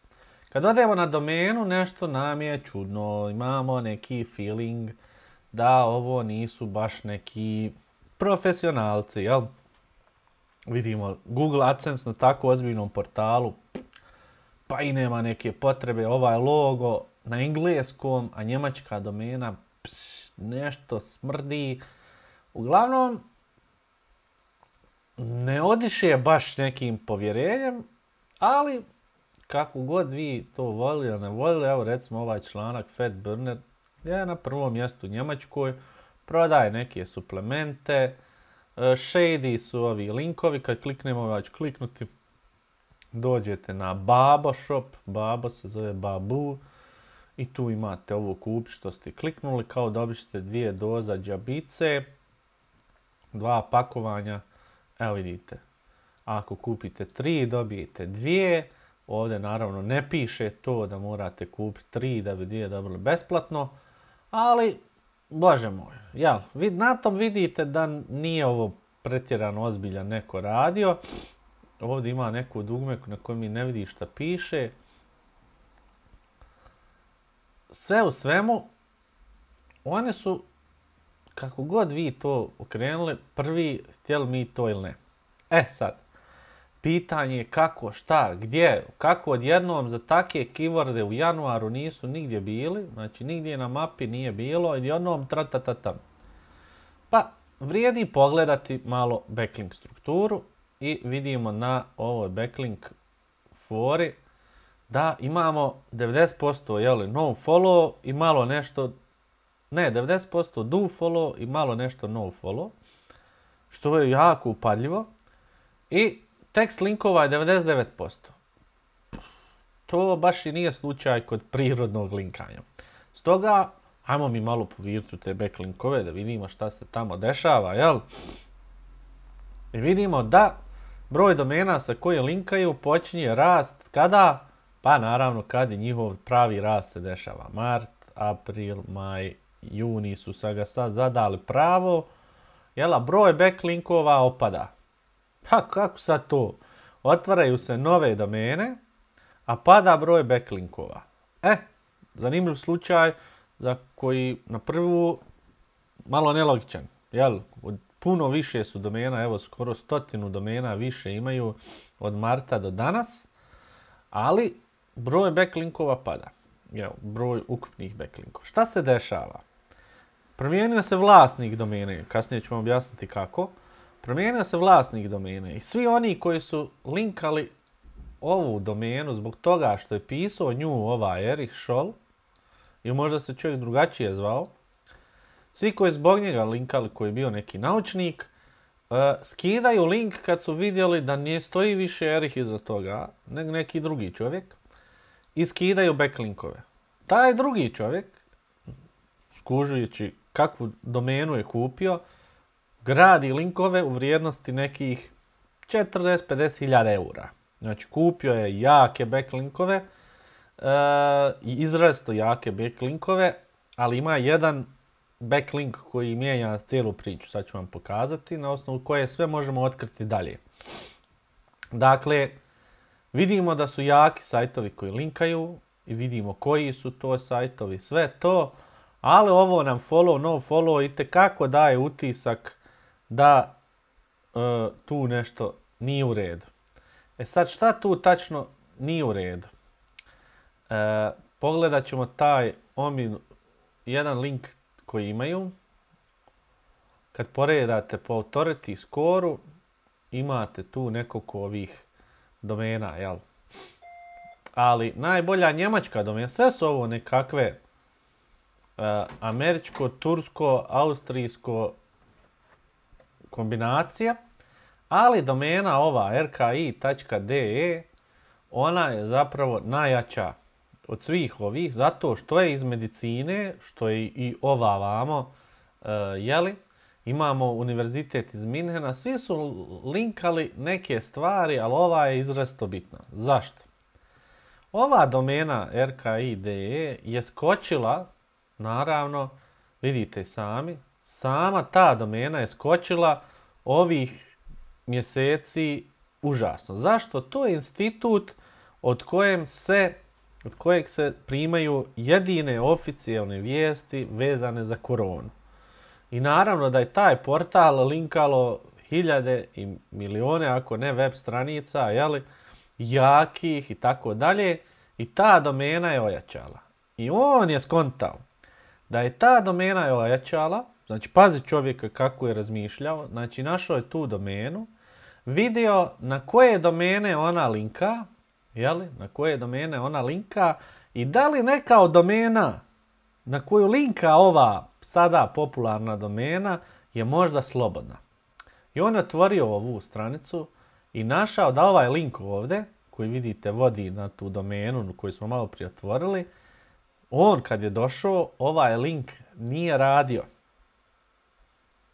Kad odemo na domenu, nešto nam je čudno, imamo neki feeling da ovo nisu baš neki profesionalci, jel? Vidimo Google AdSense na tako ozbiljnom portalu, pa i nema neke potrebe, ovaj logo na engleskom, a njemačka domena, pš, nešto smrdi. Uglavnom, ne odiše baš nekim povjerenjem, ali kako god vi to volili ili ne volili, evo recimo ovaj članak Fat Burner je na prvom mjestu u Njemačkoj, prodaje neke suplemente, shady su ovi linkovi, kad kliknemo, ja ću kliknuti, dođete na Babo shop, Babo se zove Babu, i tu imate ovo kup što ste kliknuli, kao dobit ćete dvije doza džabice, dva pakovanja, evo vidite, ako kupite tri dobijete dvije. Ovdje naravno ne piše to da morate kupiti tri da bi dvije dobili besplatno, ali, bože moj, jel, na tom vidite da nije ovo pretjerano ozbiljan neko radio. Ovdje ima neku dugme na kojoj mi ne vidi šta piše. Sve u svemu, one su, kako god vi to okrenuli, prvi htjeli mi to ili ne. E sad. Pitanje je kako, šta, gdje, kako odjednom za takve keyworde u januaru nisu nigdje bili, znači nigdje na mapi nije bilo, i odjednom tratatata. Pa, vrijedi pogledati malo backlink strukturu i vidimo na ovoj backlink fori da imamo devedeset posto jeli, no follow i malo nešto, ne, devedeset posto do follow i malo nešto no follow, što je jako upadljivo. I tekst linkova je devedeset devet posto. To baš i nije slučaj kod prirodnog linkanja. Stoga, ajmo mi malo povirti u te backlinkove da vidimo šta se tamo dešava, jel? I vidimo da broj domena sa koje linkaju počinje rast kada? Pa naravno kad je njihov pravi rast se dešava. Mart, april, maj, juni su sa ga sad zadali pravo. Jel, broj backlinkova opada. Pa kako sad to? Otvaraju se nove domene, a pada broj backlinkova. E, zanimljiv slučaj za koji na prvu malo nelogičan. Jel, puno više su domena, evo skoro stotinu domena više imaju od marta do danas, ali broj backlinkova pada. Jel, broj ukupnih backlinkova. Šta se dešava? Promijenio se vlasnik domene, kasnije ću vam objasniti kako. Promijenio se vlasnik domene i svi oni koji su linkali ovu domenu zbog toga što je pisao nju ovaj Erich Scholl, ili možda se čovjek drugačije zvao, svi koji zbog njega linkali, koji je bio neki naučnik, uh, skidaju link kad su vidjeli da ne stoji više Erich iza toga, nego neki drugi čovjek, i skidaju backlinkove. Taj drugi čovjek, skužujući kakvu domenu je kupio, gradi linkove u vrijednosti nekih četrdeset do pedeset hiljada eura. Znači kupio je jake backlinkove, e, izrazito jake backlinkove, ali ima jedan backlink koji mijenja cijelu priču. Sad ću vam pokazati na osnovu koje sve možemo otkriti dalje. Dakle, vidimo da su jaki sajtovi koji linkaju i vidimo koji su to sajtovi, sve to, ali ovo nam follow, no follow itekako daje utisak da e, tu nešto nije u redu. E sad šta tu tačno nije u redu? E, pogledat ćemo taj omin, jedan link koji imaju. Kad poredate po authority score-u, imate tu nekoliko ovih domena, jel? Ali najbolja njemačka domena, sve su ovo nekakve uh, američko, tursko, austrijsko kombinacija, ali domena ova er ka i tačka de e, ona je zapravo najjača od svih ovih, zato što je iz medicine, što je i ova vamo, uh, jeli, imamo univerzitet iz Minhena, svi su linkali neke stvari, ali ova je izrazito bitna. Zašto? Ova domena er ka i de e je skočila, naravno, vidite sami, sama ta domena je skočila ovih mjeseci užasno. Zašto? To je institut od kojem se, od kojeg se primaju jedine oficijalne vijesti vezane za koronu. I naravno da je taj portal linkalo hiljade i milione, ako ne web stranica, jeli, jakih i tako dalje. I ta domena je ojačala. I on je skontao da je ta domena je ojačala, znači pazi čovjeka kako je razmišljao, znači našao je tu domenu, vidio na koje domene ona linka, jeli, na koje domene ona linka i da li neka od domena na koju linka ova sada popularna domena je možda slobodna. I on je otvorio ovu stranicu i našao da ovaj link ovdje, koji vidite vodi na tu domenu koju smo malo prije otvorili, on kad je došao, ovaj link nije radio.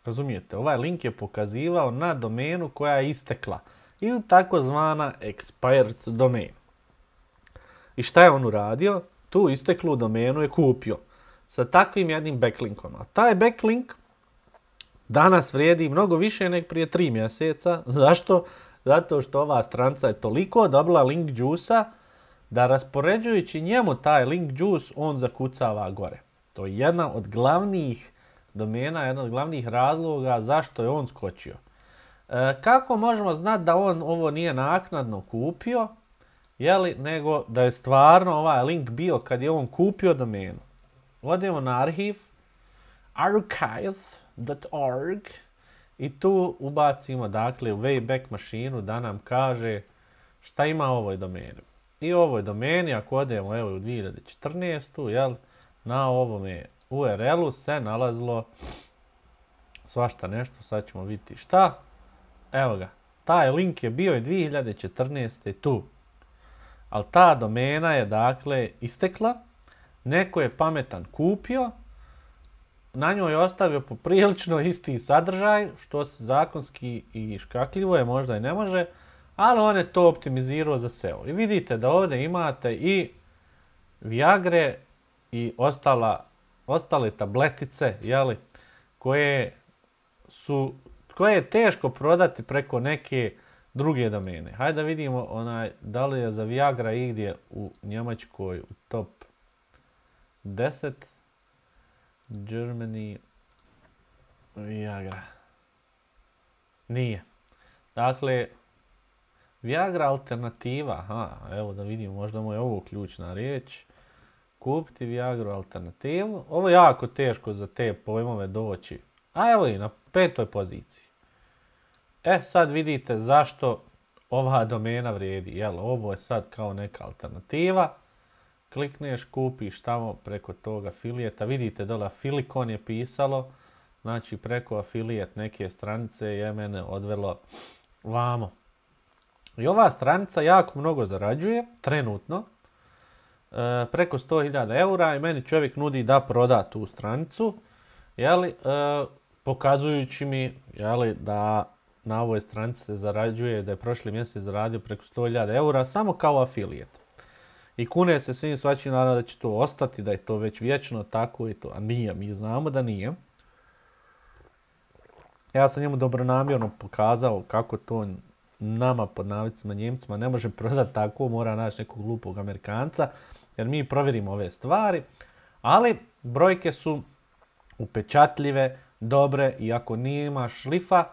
Razumijete? Ovaj link je pokazivao na domenu koja je istekla. Ili takozvana expired domain. I šta je on uradio? Tu isteklu domenu je kupio. Sa takvim jednim backlinkom. A taj backlink danas vrijedi mnogo više nego prije tri mjeseca. Zašto? Zato što ova stranca je toliko dobila link juice-a da raspoređujući njemu taj link juice on zakucava gore. To je jedna od glavnih domena, jedna od glavnih razloga zašto je on skočio. E, kako možemo znati da on ovo nije naknadno kupio, jeli, nego da je stvarno ovaj link bio kad je on kupio domenu? Odemo na arhiv, archive dot org i tu ubacimo dakle u Wayback mašinu da nam kaže šta ima u ovoj domeni. i ovoj domeni, ako odemo evo u dvije hiljade četrnaestu, jel, na ovome U R L-u se nalazilo svašta nešto, sad ćemo vidjeti šta. Evo ga, taj link je bio i dvije hiljade četrnaeste tu. Ali ta domena je dakle istekla, neko je pametan kupio, na njoj je ostavio poprilično isti sadržaj, što se zakonski i škakljivo je, možda i ne može, ali on je to optimizirao za S E O. I vidite da ovdje imate i Viagre i ostala, ostale tabletice, jeli, koje su, koje je teško prodati preko neke druge domene. Hajde da vidimo onaj, da li je za Viagra igdje u Njemačkoj u top deset. Germany Viagra. Nije. Dakle, Viagra alternativa. Aha, evo da vidimo, možda mu je ovo ključna riječ. Kupiti Viagru alternativu. Ovo je jako teško za te pojmove doći. A evo i na petoj poziciji. E, sad vidite zašto ova domena vrijedi. Jel, ovo je sad kao neka alternativa. Klikneš, kupiš tamo preko toga afilijeta. Vidite dole Afilikon je pisalo. Znači preko afilijet neke stranice je mene odvelo vamo. I ova stranica jako mnogo zarađuje, trenutno. E, preko sto hiljada eura i meni čovjek nudi da proda tu stranicu. Jeli, e, pokazujući mi jeli, da na ovoj stranici se zarađuje, da je prošli mjesec zaradio preko sto hiljada eura samo kao afilijet. I kune se svim svačim naravno da će to ostati, da je to već vječno tako i to. A nije, mi znamo da nije. Ja sam njemu dobronamjerno pokazao kako to nama, pod navicima Njemcima, ne može prodati tako, mora naći nekog glupog Amerikanca, jer mi provjerimo ove stvari. Ali brojke su upečatljive, dobre i ako nima šlifa,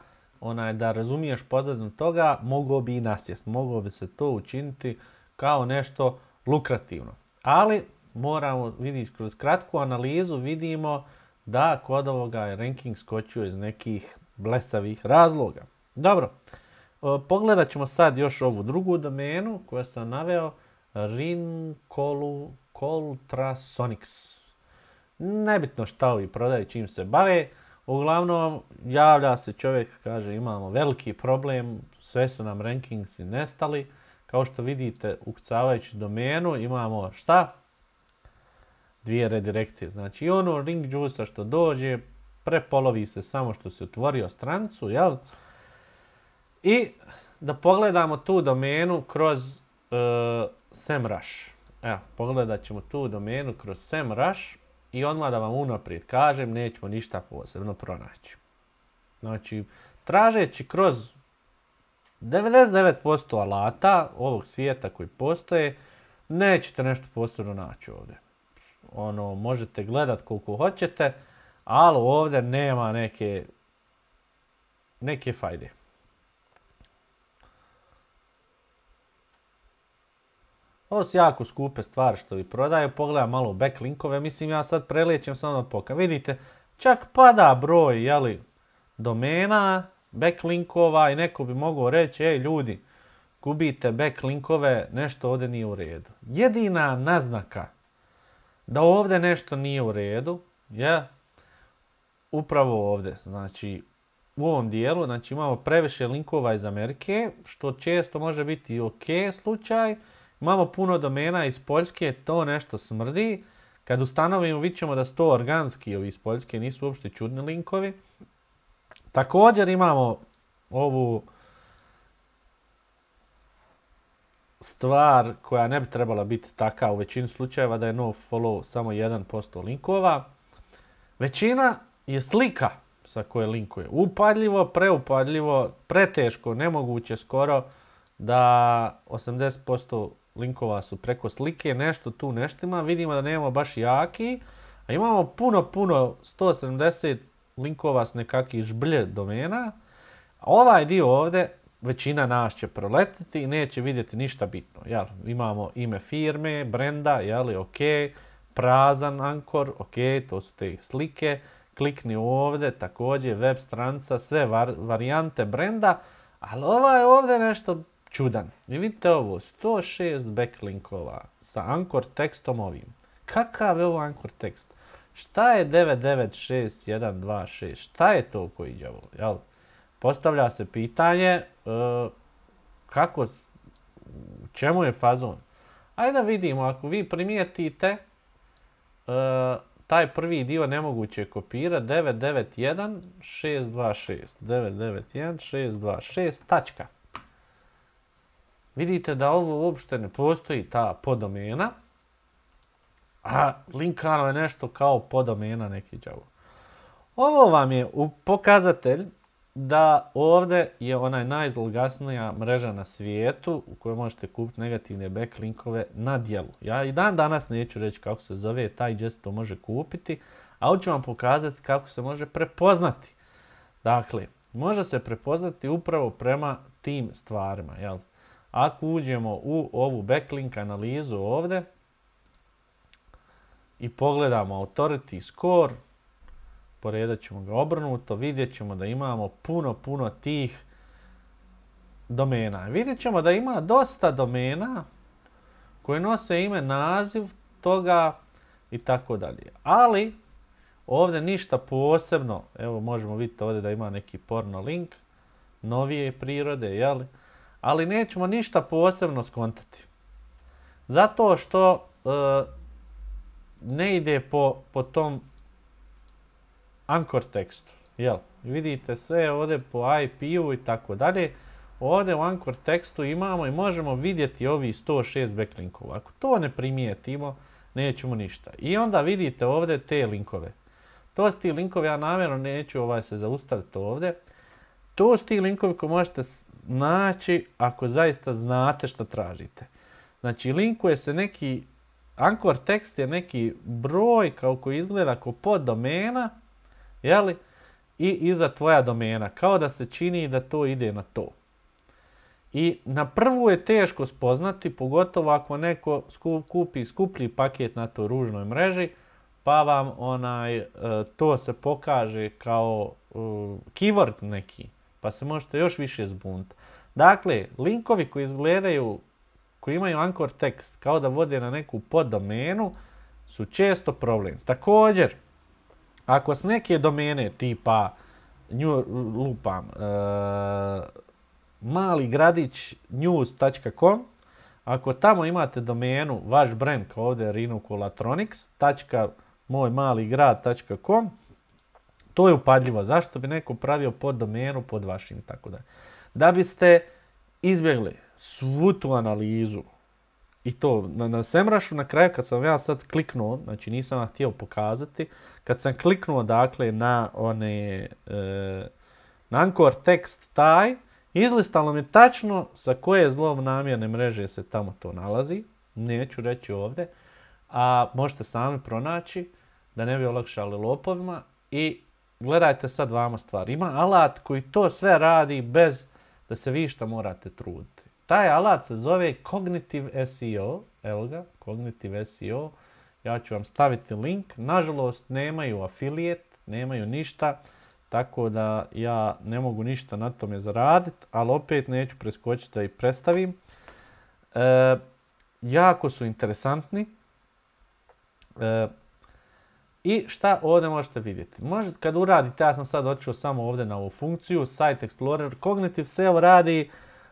onaj, da razumiješ pozadinu toga, moglo bi i nasjest. Moglo bi se to učiniti kao nešto lukrativno. Ali moramo vidjeti kroz kratku analizu, vidimo da kod ovoga je ranking skočio iz nekih blesavih razloga. Dobro, pogledat ćemo sad još ovu drugu domenu koju sam naveo, Rincoltrasonics. Nebitno šta ovi prodaju, čim se bave. Uglavnom, javlja se čovjek, kaže imamo veliki problem, sve su nam rankingsi nestali. Kao što vidite, ukucavajući domenu imamo šta? Dvije redirekcije. Znači i ono ring juice što dođe, prepolovi se samo što se otvorio stranicu, jel? I da pogledamo tu domenu kroz uh, SEMrush. Evo, pogledat ćemo tu domenu kroz SEMrush i odmah da vam unaprijed kažem, nećemo ništa posebno pronaći. Znači, tražeći kroz devedeset devet posto alata ovog svijeta koji postoje, nećete nešto posebno naći ovdje. Ono, možete gledat koliko hoćete, ali ovdje nema neke, neke fajde. Ovo su jako skupe stvari što vi prodaju. Pogledam malo backlinkove. Mislim, ja sad prelijećem samo da pokažem. Vidite, čak pada broj, jeli, domena, backlinkova i neko bi mogao reći, ej ljudi, gubite backlinkove, nešto ovdje nije u redu. Jedina naznaka da ovdje nešto nije u redu je upravo ovdje. Znači, u ovom dijelu, znači imamo previše linkova iz Amerike, što često može biti ok slučaj. Imamo puno domena iz Poljske, to nešto smrdi. Kad ustanovimo, vidjet ćemo da su to organski ovi iz Poljske, nisu uopšte čudni linkovi. Također imamo ovu stvar koja ne bi trebala biti taka u većini slučajeva, da je no follow samo jedan posto linkova. Većina je slika sa koje linkuje. Upadljivo, preupadljivo, preteško, nemoguće skoro da osamdeset posto linkova su preko slike, nešto tu neštima. Vidimo da nemamo baš jaki, a imamo puno, puno, sto sedamdeset linkova s nekakvih žblje domena. A ovaj dio ovdje, većina nas će proletiti i neće vidjeti ništa bitno. Jel? Imamo ime firme, brenda, jeli, ok, prazan ankor, ok, to su te slike. Klikni ovdje, također web stranica, sve var, varijante brenda, ali ovaj ovdje nešto čudan. I vidite ovo, sto šest backlinkova sa anchor tekstom ovim. Kakav je ovo anchor tekst? Šta je devet devet šest jedan dva šest? Šta je to koji đavo? Jel? Postavlja se pitanje uh, kako, u čemu je fazon? Ajde da vidimo, ako vi primijetite uh, taj prvi dio nemoguće kopira devet devet jedan šest dva šest. devet devet jedan šest dva šest, tačka. Vidite da ovo uopšte ne postoji ta podomena, a linkano je nešto kao podomena neki đavo. Ovo vam je pokazatelj da ovdje je onaj najzloglasnija mreža na svijetu u kojoj možete kupiti negativne backlinkove na djelu. Ja i dan danas neću reći kako se zove taj gdje se to može kupiti, a hoću vam pokazati kako se može prepoznati. Dakle, može se prepoznati upravo prema tim stvarima. Jel? Ako uđemo u ovu backlink analizu ovdje i pogledamo authority score, poredat ćemo ga obrnuto, vidjet ćemo da imamo puno, puno tih domena. Vidjet ćemo da ima dosta domena koje nose ime, naziv toga i tako dalje. Ali ovdje ništa posebno, evo možemo vidjeti ovdje da ima neki porno link, novije prirode, jel? Ali nećemo ništa posebno skontati. Zato što e, ne ide po, po tom anchor tekstu. Jel? Vidite sve ovdje po I P-u i tako dalje. Ovdje u anchor tekstu imamo i možemo vidjeti ovi sto šest backlinkova. Ako to ne primijetimo, nećemo ništa. I onda vidite ovdje te linkove. To su ti linkovi, ja namjerno neću ovaj se zaustaviti ovdje. To su ti linkovi koje možete naći ako zaista znate što tražite. Znači, linkuje se neki, anchor tekst je neki broj kao koji izgleda kao poddomena, jeli? I iza tvoja domena, kao da se čini da to ide na to. I na prvu je teško spoznati, pogotovo ako neko kupi skuplji paket na toj ružnoj mreži, pa vam onaj, to se pokaže kao keyword neki, pa se možete još više zbuniti. Dakle, linkovi koji izgledaju, koji imaju anchor tekst kao da vode na neku poddomenu, su često problem. Također, ako s neke domene tipa nju, lupam, e, mali gradić news tačka com, ako tamo imate domenu, vaš brand kao ovdje rinokolatronics tačka moj mali grad tačka com, to je upadljivo. Zašto bi neko pravio poddomenu pod vašim i tako dalje? Da biste izbjegli svu tu analizu i to na, na Semrušu na kraju kad sam ja sad kliknuo, znači nisam vam htio pokazati, kad sam kliknuo dakle na one e, na anchor tekst taj, izlistalo mi tačno sa koje zlonamjerne mreže se tamo to nalazi, neću reći ovdje, a možete sami pronaći da ne bi olakšali lopovima. I gledajte sad vama stvar, ima alat koji to sve radi bez da se vi šta morate truditi. Taj alat se zove Cognitive S E O, evo ga, Cognitive S E O, ja ću vam staviti link, nažalost nemaju affiliate, nemaju ništa, tako da ja ne mogu ništa na tome zaraditi, ali opet neću preskočiti da ih predstavim. E, jako su interesantni. E, I šta ovdje možete vidjeti? Možete kad uradite, ja sam sad odšao samo ovdje na ovu funkciju, Site Explorer, Cognitive S E O radi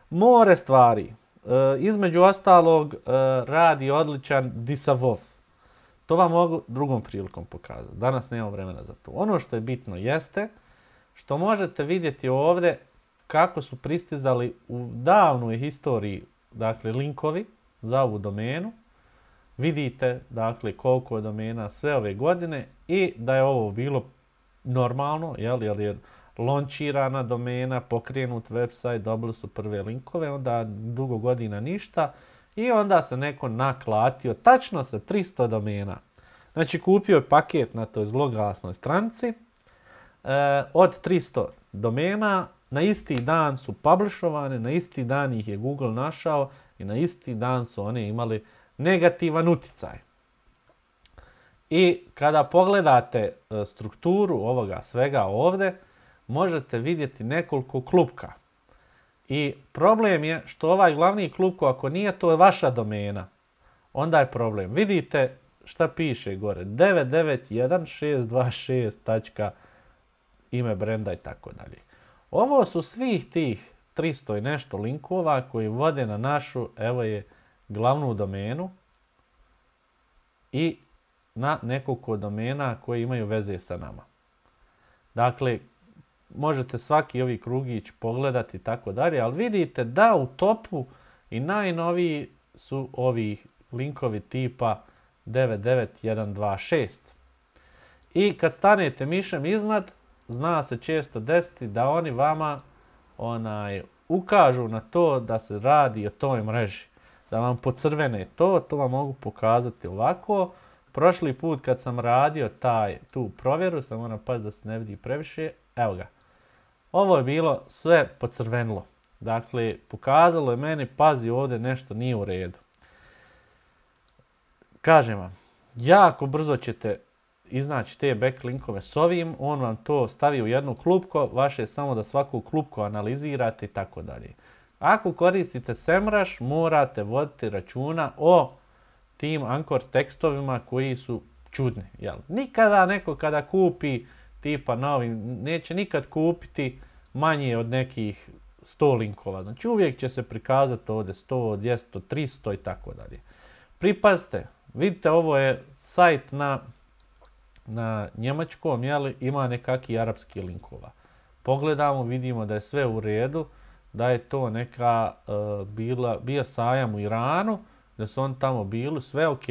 more stvari. E, između ostalog e, radi odličan disavow. To vam mogu drugom prilikom pokazati. Danas nemam vremena za to. Ono što je bitno jeste što možete vidjeti ovdje kako su pristizali u davnoj historiji, dakle, linkovi za ovu domenu. Vidite, dakle, koliko je domena sve ove godine i da je ovo bilo normalno, jel, jer je launchirana domena, pokrenut website, dobili su prve linkove, onda dugo godina ništa i onda se neko naklatio tačno sa tristo domena. Znači, kupio je paket na toj zloglasnoj stranici e, od tristo domena, na isti dan su publishovane, na isti dan ih je Google našao i na isti dan su oni imali negativan uticaj. I kada pogledate strukturu ovoga svega ovdje, možete vidjeti nekoliko klupka. I problem je što ovaj glavni klupko, ako nije to vaša domena, onda je problem. Vidite šta piše gore. devet devet jedan šest dva šest tačka ime brenda i tako dalje. Ovo su svih tih tristo i nešto linkova koji vode na našu, evo je, glavnu domenu i na nekoliko domena koji imaju veze sa nama. Dakle, možete svaki ovi krugić pogledati i tako dalje, ali vidite da u topu i najnoviji su ovi linkovi tipa devet devet jedan dva šest. I kad stanete mišem iznad, zna se često desiti da oni vama onaj, ukažu na to da se radi o toj mreži. Da vam pocrvene to, to vam mogu pokazati ovako. Prošli put kad sam radio taj, tu provjeru, sam moram paziti da se ne vidi previše, evo ga. Ovo je bilo sve pocrvenilo. Dakle, pokazalo je meni, pazi ovdje nešto nije u redu. Kažem vam, jako brzo ćete iznaći te backlinkove s ovim, on vam to stavi u jednu klupko, vaše je samo da svaku klupko analizirate i tako dalje. Ako koristite SEMrush, morate voditi računa o tim ankor tekstovima koji su čudni. Jel? Nikada neko kada kupi tipa novi, neće nikad kupiti manje od nekih sto linkova. Znači uvijek će se prikazati ovdje sto, dvjesto, tristo i tako dalje. Pripazite, vidite ovo je sajt na, na njemačkom, jel, ima nekakvi arapski linkova. Pogledamo, vidimo da je sve u redu, da je to neka uh, bila, bio sajam u Iranu, da su on tamo bili, sve ok.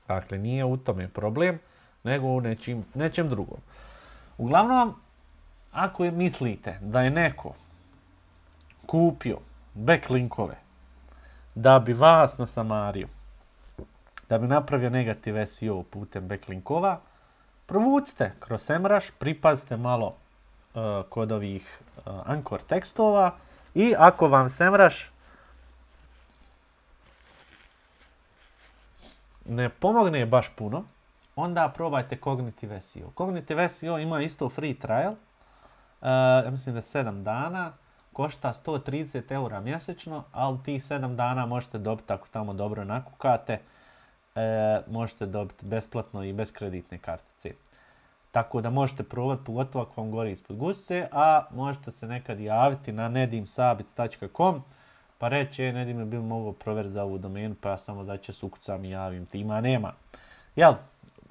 Dakle, nije u tome problem, nego u nečim, nečem drugom. Uglavnom, ako je, mislite da je neko kupio backlinkove da bi vas nasamario, da bi napravio negativ S E O putem backlinkova, provucite kroz SEMrush, pripazite malo uh, kod ovih uh, ankor tekstova i ako vam SEMrush ne pomogne baš puno, onda probajte Cognitive S E O. Cognitive S E O ima isto free trial, uh, ja mislim da je sedam dana, košta sto trideset eura mjesečno, ali tih sedam dana možete dobiti, ako tamo dobro nakukate, e, možete dobiti besplatno i bez kreditne kartice. Tako da možete probati, pogotovo ako vam gori ispod guzice, a možete se nekad javiti na nedimsabic tačka com pa reći, e, Nedim je bil mogo provjeriti za ovu domenu, pa ja samo začas ukucam i javim ti, ima nema. Jel?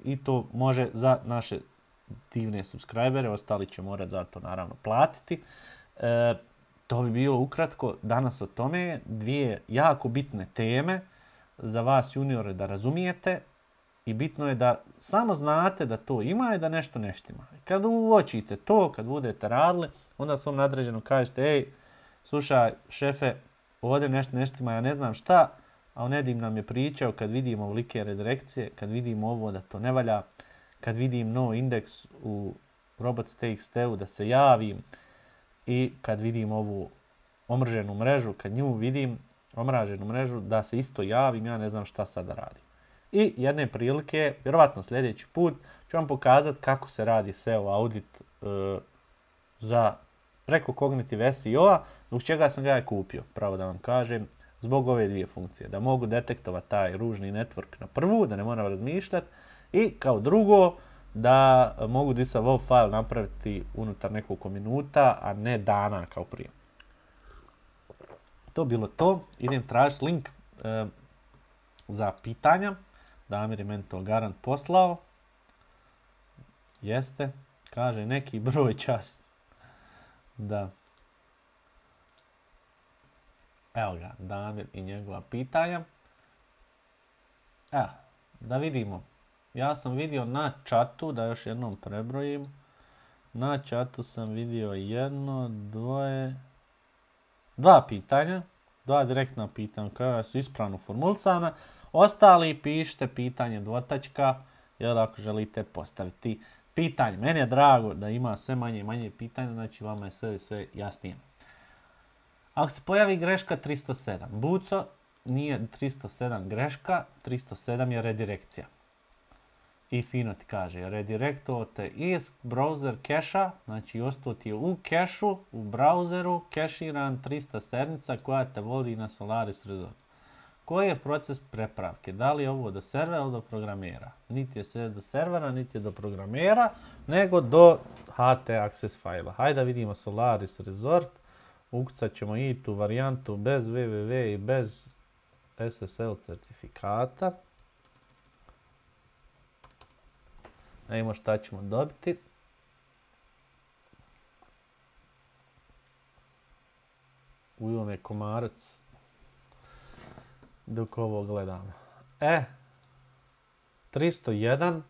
I to može za naše divne subscribere, ostali će morati za to naravno platiti. E, to bi bilo ukratko danas o tome, dvije jako bitne teme za vas juniore da razumijete i bitno je da samo znate da to ima i da nešto ne štima. Kad uočite to, kad budete radili, onda svom nadređenom kažete, ej, slušaj šefe, ovdje nešto ne štima, ja ne znam šta, a Nedim nam je pričao kad vidimo ovolike redirekcije, kad vidimo ovo da to ne valja, kad vidim no indeks u robots.txt-u da se javim i kad vidim ovu omrženu mrežu, kad nju vidim, omraženu mrežu, da se isto javim, ja ne znam šta sad da radim. I jedne prilike, vjerovatno sljedeći put, ću vam pokazati kako se radi S E O audit e, za preko Cognitive S E O-a, zbog čega sam ga ja kupio, pravo da vam kažem, zbog ove dvije funkcije. Da mogu detektovati taj ružni network na prvu, da ne moram razmišljati, i kao drugo, da mogu disa WAV file napraviti unutar nekoliko minuta, a ne dana kao prije. To bilo to. Idem tražiti link e, za pitanja. Damir je meni to garant poslao. Jeste. Kaže neki broj čas. Da. Evo ga, Damir i njegova pitanja. Evo, da vidimo. Ja sam vidio na chatu, da još jednom prebrojim. Na chatu sam vidio jedno, dvoje, dva pitanja. Dva direktna pitanja koja su ispravno formulisana. Ostali pišite pitanje dvotačka, jer ako želite postaviti pitanje. Meni je drago da ima sve manje i manje pitanja, znači vama je sve, sve jasnije. Ako se pojavi greška tristo sedam, Buco, nije tristo sedam greška, tristo sedam je redirekcija. i fino ti kaže, redirektovao te iz browser keša, znači ostao ti je u kešu, u browseru, keširan trista sedmica koja te vodi na Solaris Resort. Koji je proces prepravke? Da li je ovo do servera ili do programera? Niti je sve do servera, niti je do programera, nego do H T access fajla. Hajde da vidimo Solaris Resort. Ukucat ćemo i tu varijantu bez www i bez S S L certifikata. Da vidimo šta ćemo dobiti. Ujel je komarac dok ovo gledamo. E, tristo jedan,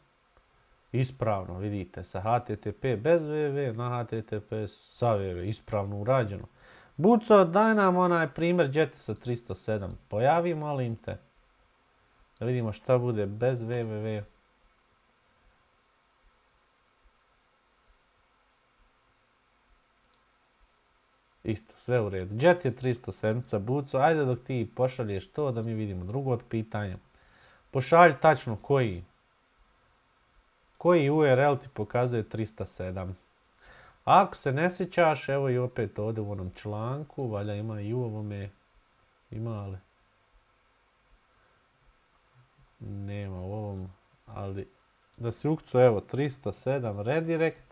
ispravno, vidite, sa H T T P bez www na H T T P sa www, ispravno urađeno. Buco, daj nam onaj primjer gdje te sa tristo sedam pojavi, molim te. Da vidimo šta bude bez www. Isto, sve u redu. Jet je tristo sedam, Buco, ajde dok ti pošalješ to da mi vidimo drugo pitanje. Pošalj tačno koji. Koji U R L ti pokazuje tristo sedam. Ako se ne sjećaš, evo i opet ovdje u onom članku, valja ima i u ovome, ima li? Nema u ovom, ali da si ukucu, evo, tristo sedam redirect.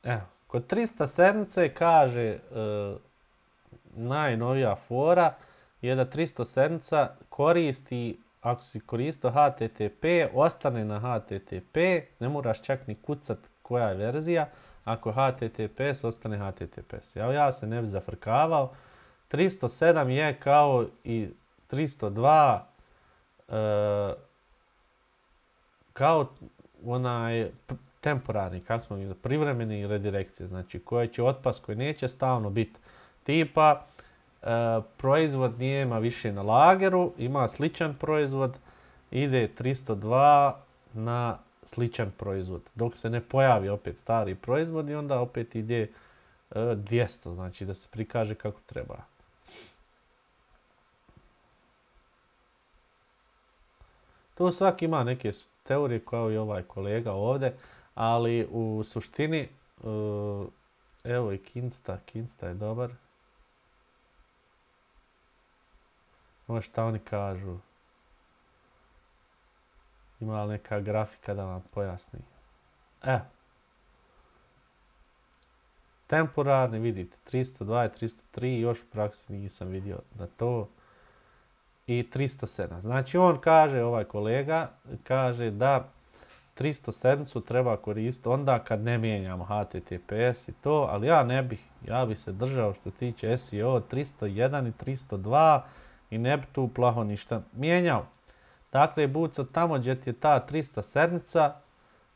Evo, kod tristo sedam kaže e, najnovija fora je da tristo sedam koristi, ako si koristio H T T P, ostane na H T T P, ne moraš čak ni kucat koja je verzija, ako H T T P S ostane H T T P S. Ja, ja se ne bi zafrkavao. tristo sedam je kao i tristo dva e, kao onaj temporarni, kako smo vidjeli, privremeni redirekcije, znači koje će otpas, koji neće stalno biti. Tipa, e, proizvod nije ima više na lageru, ima sličan proizvod, ide tristo dva na sličan proizvod. Dok se ne pojavi opet stari proizvod i onda opet ide e, dvjesto, znači da se prikaže kako treba. Tu svaki ima neke teorije kao i ovaj kolega ovdje, ali u suštini, uh, evo i Kinsta, Kinsta je dobar. Ovo šta oni kažu. Ima li neka grafika da vam pojasni. Evo. Temporarni, vidite, tristo dva i tristo tri, još u praksi nisam vidio da to. I tristo sedam. Znači on kaže, ovaj kolega, kaže da tristo sedam treba koristiti onda kad ne mijenjamo H T T P S i to, ali ja ne bih, ja bih se držao što tiče S E O tristo jedan i tristo dva i ne bi tu plaho ništa mijenjao. Dakle, Buco, tamo gdje ti je ta tristo sedam,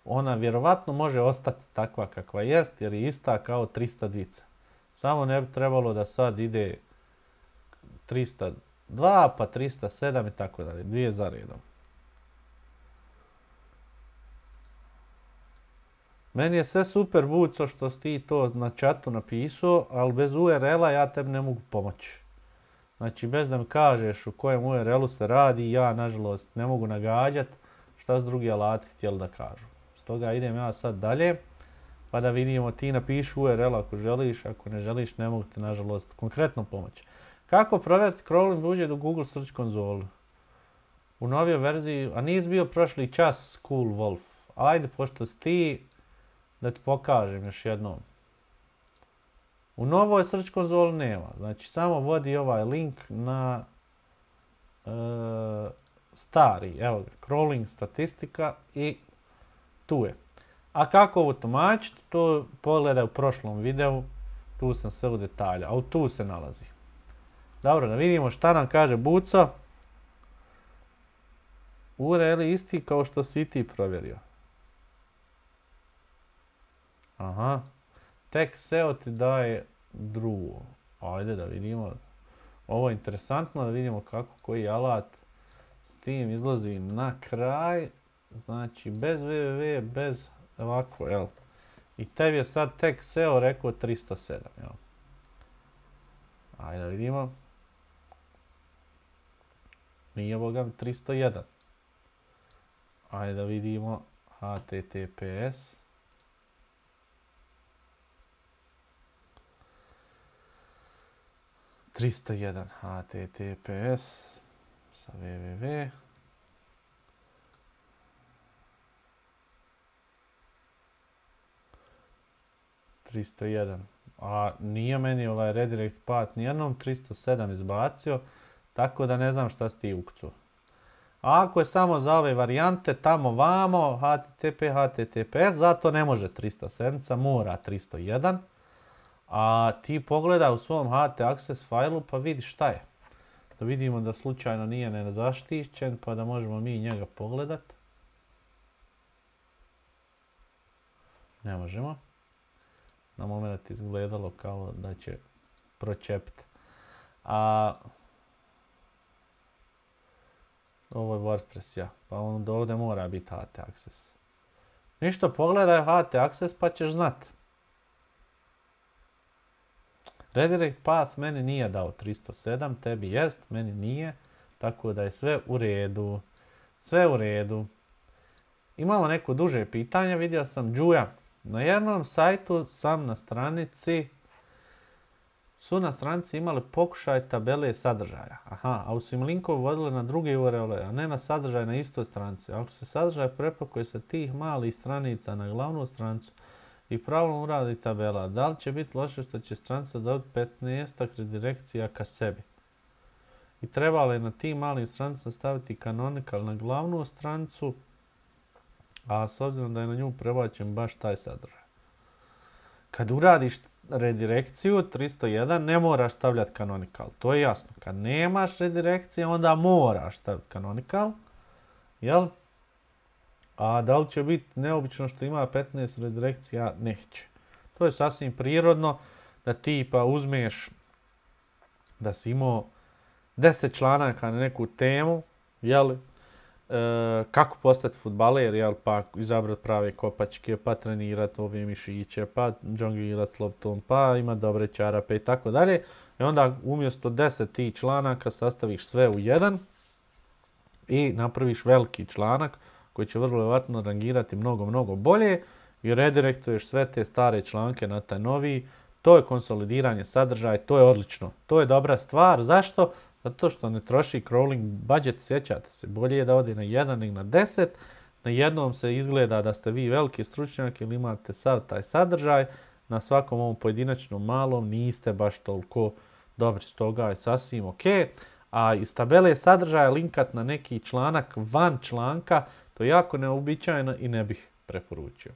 ona vjerovatno može ostati takva kakva jest, jer je ista kao tristo dva. Samo ne bi trebalo da sad ide tristo dva, pa tristo sedam i tako dalje, dvije za redom. Meni je sve super, Buco, što si ti to na chatu napisao, ali bez U R L-a ja tebi ne mogu pomoći. Znači, bez da mi kažeš u kojem U R L-u se radi, ja, nažalost, ne mogu nagađati šta su drugi alati htjeli da kažu. Stoga idem ja sad dalje, pa da vidimo, ti napiši U R L ako želiš, ako ne želiš, ne mogu ti, nažalost, konkretno pomoći. Kako provjeriti crawling budget u Google Search konzolu? U novijoj verziji, a nisi bio prošli čas Cool Wolf. Ajde, pošto si ti, da ti pokažem još jednom. U novoj Search konzoli nema. Znači, samo vodi ovaj link na e, stari. Evo ga, crawling statistika i tu je. A kako ovo tumačiti, to pogledaj u prošlom videu. Tu sam sve u detalja, a tu se nalazi. Dobro, da vidimo šta nam kaže Buco. U R L isti kao što si ti provjerio. Aha. Tek S E O ti daje drugo. Ajde da vidimo. Ovo je interesantno da vidimo kako koji alat S tim izlazi na kraj. Znači bez www, bez ovako, jel? I tebi je sad tek S E O rekao tristo sedam, jel? Ajde da vidimo. Nije boga mi tristo jedan. Ajde da vidimo H T T P S. tristo jedan H T T P S sa www. tristo jedan. A nije meni ovaj redirect path nijednom tristo sedam izbacio, tako da ne znam šta si ti ukucao. A ako je samo za ove varijante, tamo vamo, H T T P, H T T P S, zato ne može tristo sedam, mora tristo jedan. A ti pogleda u svom H T access failu pa vidi šta je. Da vidimo da slučajno nije nezaštićen, pa da možemo mi njega pogledat. Ne možemo. Na moment izgledalo kao da će pročepiti. A ovo je WordPress, ja. Pa onda ovdje mora biti H T access. Ništa, pogledaj H T access pa ćeš znat. Redirect path meni nije dao tristo sedam, tebi jest, meni nije. Tako da je sve u redu. Sve u redu. Imamo neko duže pitanje, vidio sam Đuja. Na jednom sajtu sam na stranici, su na stranici imali pokušaj tabele sadržaja. Aha, a su im linkove vodili na druge U R L-e, a ne na sadržaj na istoj stranici. Ako se sadržaj prepakuje sa tih malih stranica na glavnu stranicu i pravilno uradi tabela, da li će biti loše što će stranica dobiti petnaest redirekcija ka sebi? I treba li na tim malim stranicama staviti canonical na glavnu stranicu, a s obzirom da je na nju prebačen baš taj sadržaj. Kad uradiš redirekciju tristo jedan ne moraš stavljati canonical, to je jasno. Kad nemaš redirekcije onda moraš staviti canonical, jel? A da li će biti neobično što ima petnaest redirekcija? Neće. To je sasvim prirodno da ti pa uzmeš da si imao deset članaka na neku temu, jel? E, kako postati fudbaler, jel, pa izabrati prave kopačke, pa trenirati ove mišiće, pa džonglirati s loptom, pa imati dobre čarape i tako dalje. I onda umjesto deset tih članaka sastaviš sve u jedan i napraviš veliki članak koji će vrlo vjerovatno rangirati mnogo, mnogo bolje i redirektuješ sve te stare članke na taj novi. To je konsolidiranje sadržaja, to je odlično. To je dobra stvar. Zašto? Zato što ne troši crawling budget, sjećate se, bolje je da ode na jedan nego na deset. Na jednom se izgleda da ste vi veliki stručnjak ili imate sav taj sadržaj, na svakom ovom pojedinačnom malom niste baš toliko dobri, stoga je sasvim ok. A iz tabele sadržaja linkat na neki članak van članka, to je jako neobičajno i ne bih preporučio.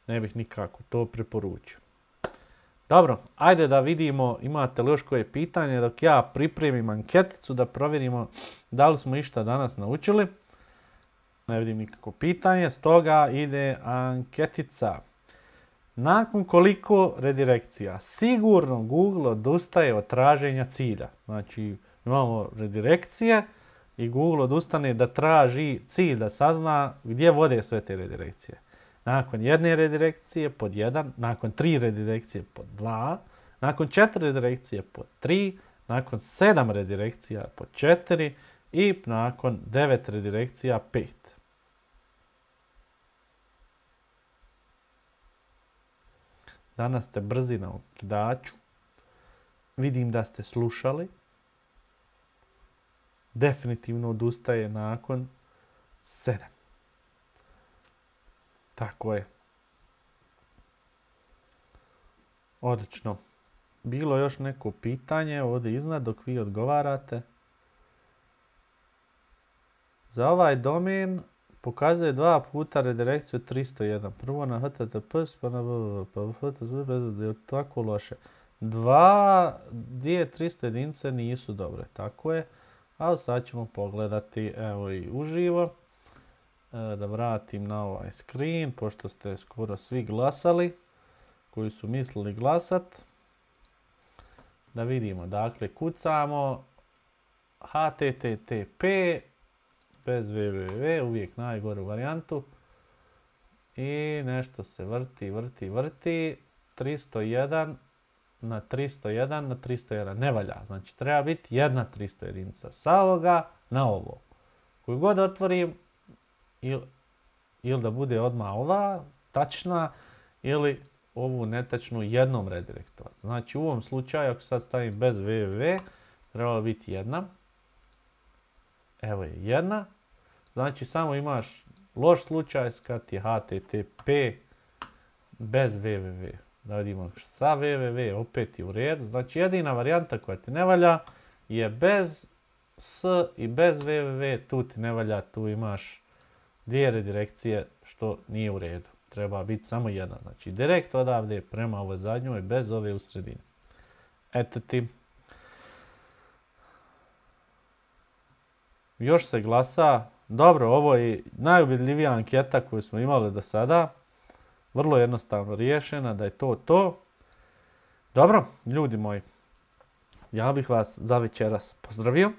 Ne bih nikako to preporučio. Dobro, ajde da vidimo imate li još koje pitanje dok ja pripremim anketicu da provjerimo da li smo išta danas naučili. Ne vidim nikako pitanje, stoga ide anketica. Nakon koliko redirekcija? Sigurno Google odustaje od traženja cilja. Znači imamo redirekcije i Google odustane da traži cilj, da sazna gdje vode sve te redirekcije. Nakon jedne redirekcije pod jedan, nakon tri redirekcije pod dva, nakon četiri redirekcije pod tri, nakon sedam redirekcija pod četiri i nakon devet redirekcija pet. Danas ste brzi na okidaču. Vidim da ste slušali. Definitivno odustaje nakon sedam. Tako je. Odlično. Bilo još neko pitanje ovdje iznad dok vi odgovarate. Za ovaj domen pokazuje dva puta redirekciju tristo jedan. Prvo na H T T P S pa na www. Pa H T T P S je tako loše. Dva, dvije tristo jedinice nisu dobre. Tako je. A sad ćemo pogledati evo i uživo. Da vratim na ovaj screen, pošto ste skoro svi glasali, koji su mislili glasat. Da vidimo, dakle, kucamo H T T P bez www, uvijek najgoru varijantu. I nešto se vrti, vrti, vrti. tristo jedan na tristo jedan na tristo jedan. Ne valja. Znači treba biti jedna tristo jedinica sa ovoga na ovo. Koju god otvorim, ili, ili da bude odmah ova tačna, ili ovu netačnu jednom redirektovati. Znači u ovom slučaju, ako sad stavim bez www, trebalo biti jedna. Evo je jedna. Znači samo imaš loš slučaj kad je H T T P bez www. Da vidimo sa www opet je u redu. Znači jedina varijanta koja ti ne valja je bez s i bez www. Tu ti ne valja, tu imaš dvije redirekcije što nije u redu. Treba biti samo jedna. Znači direkt odavde prema ovoj zadnjoj bez ove u sredini. Eto ti. Još se glasa. Dobro, ovo je najubjedljivija anketa koju smo imali do sada. Vrlo jednostavno riješena, da je to to. Dobro, ljudi moji, ja bih vas za večeras pozdravio.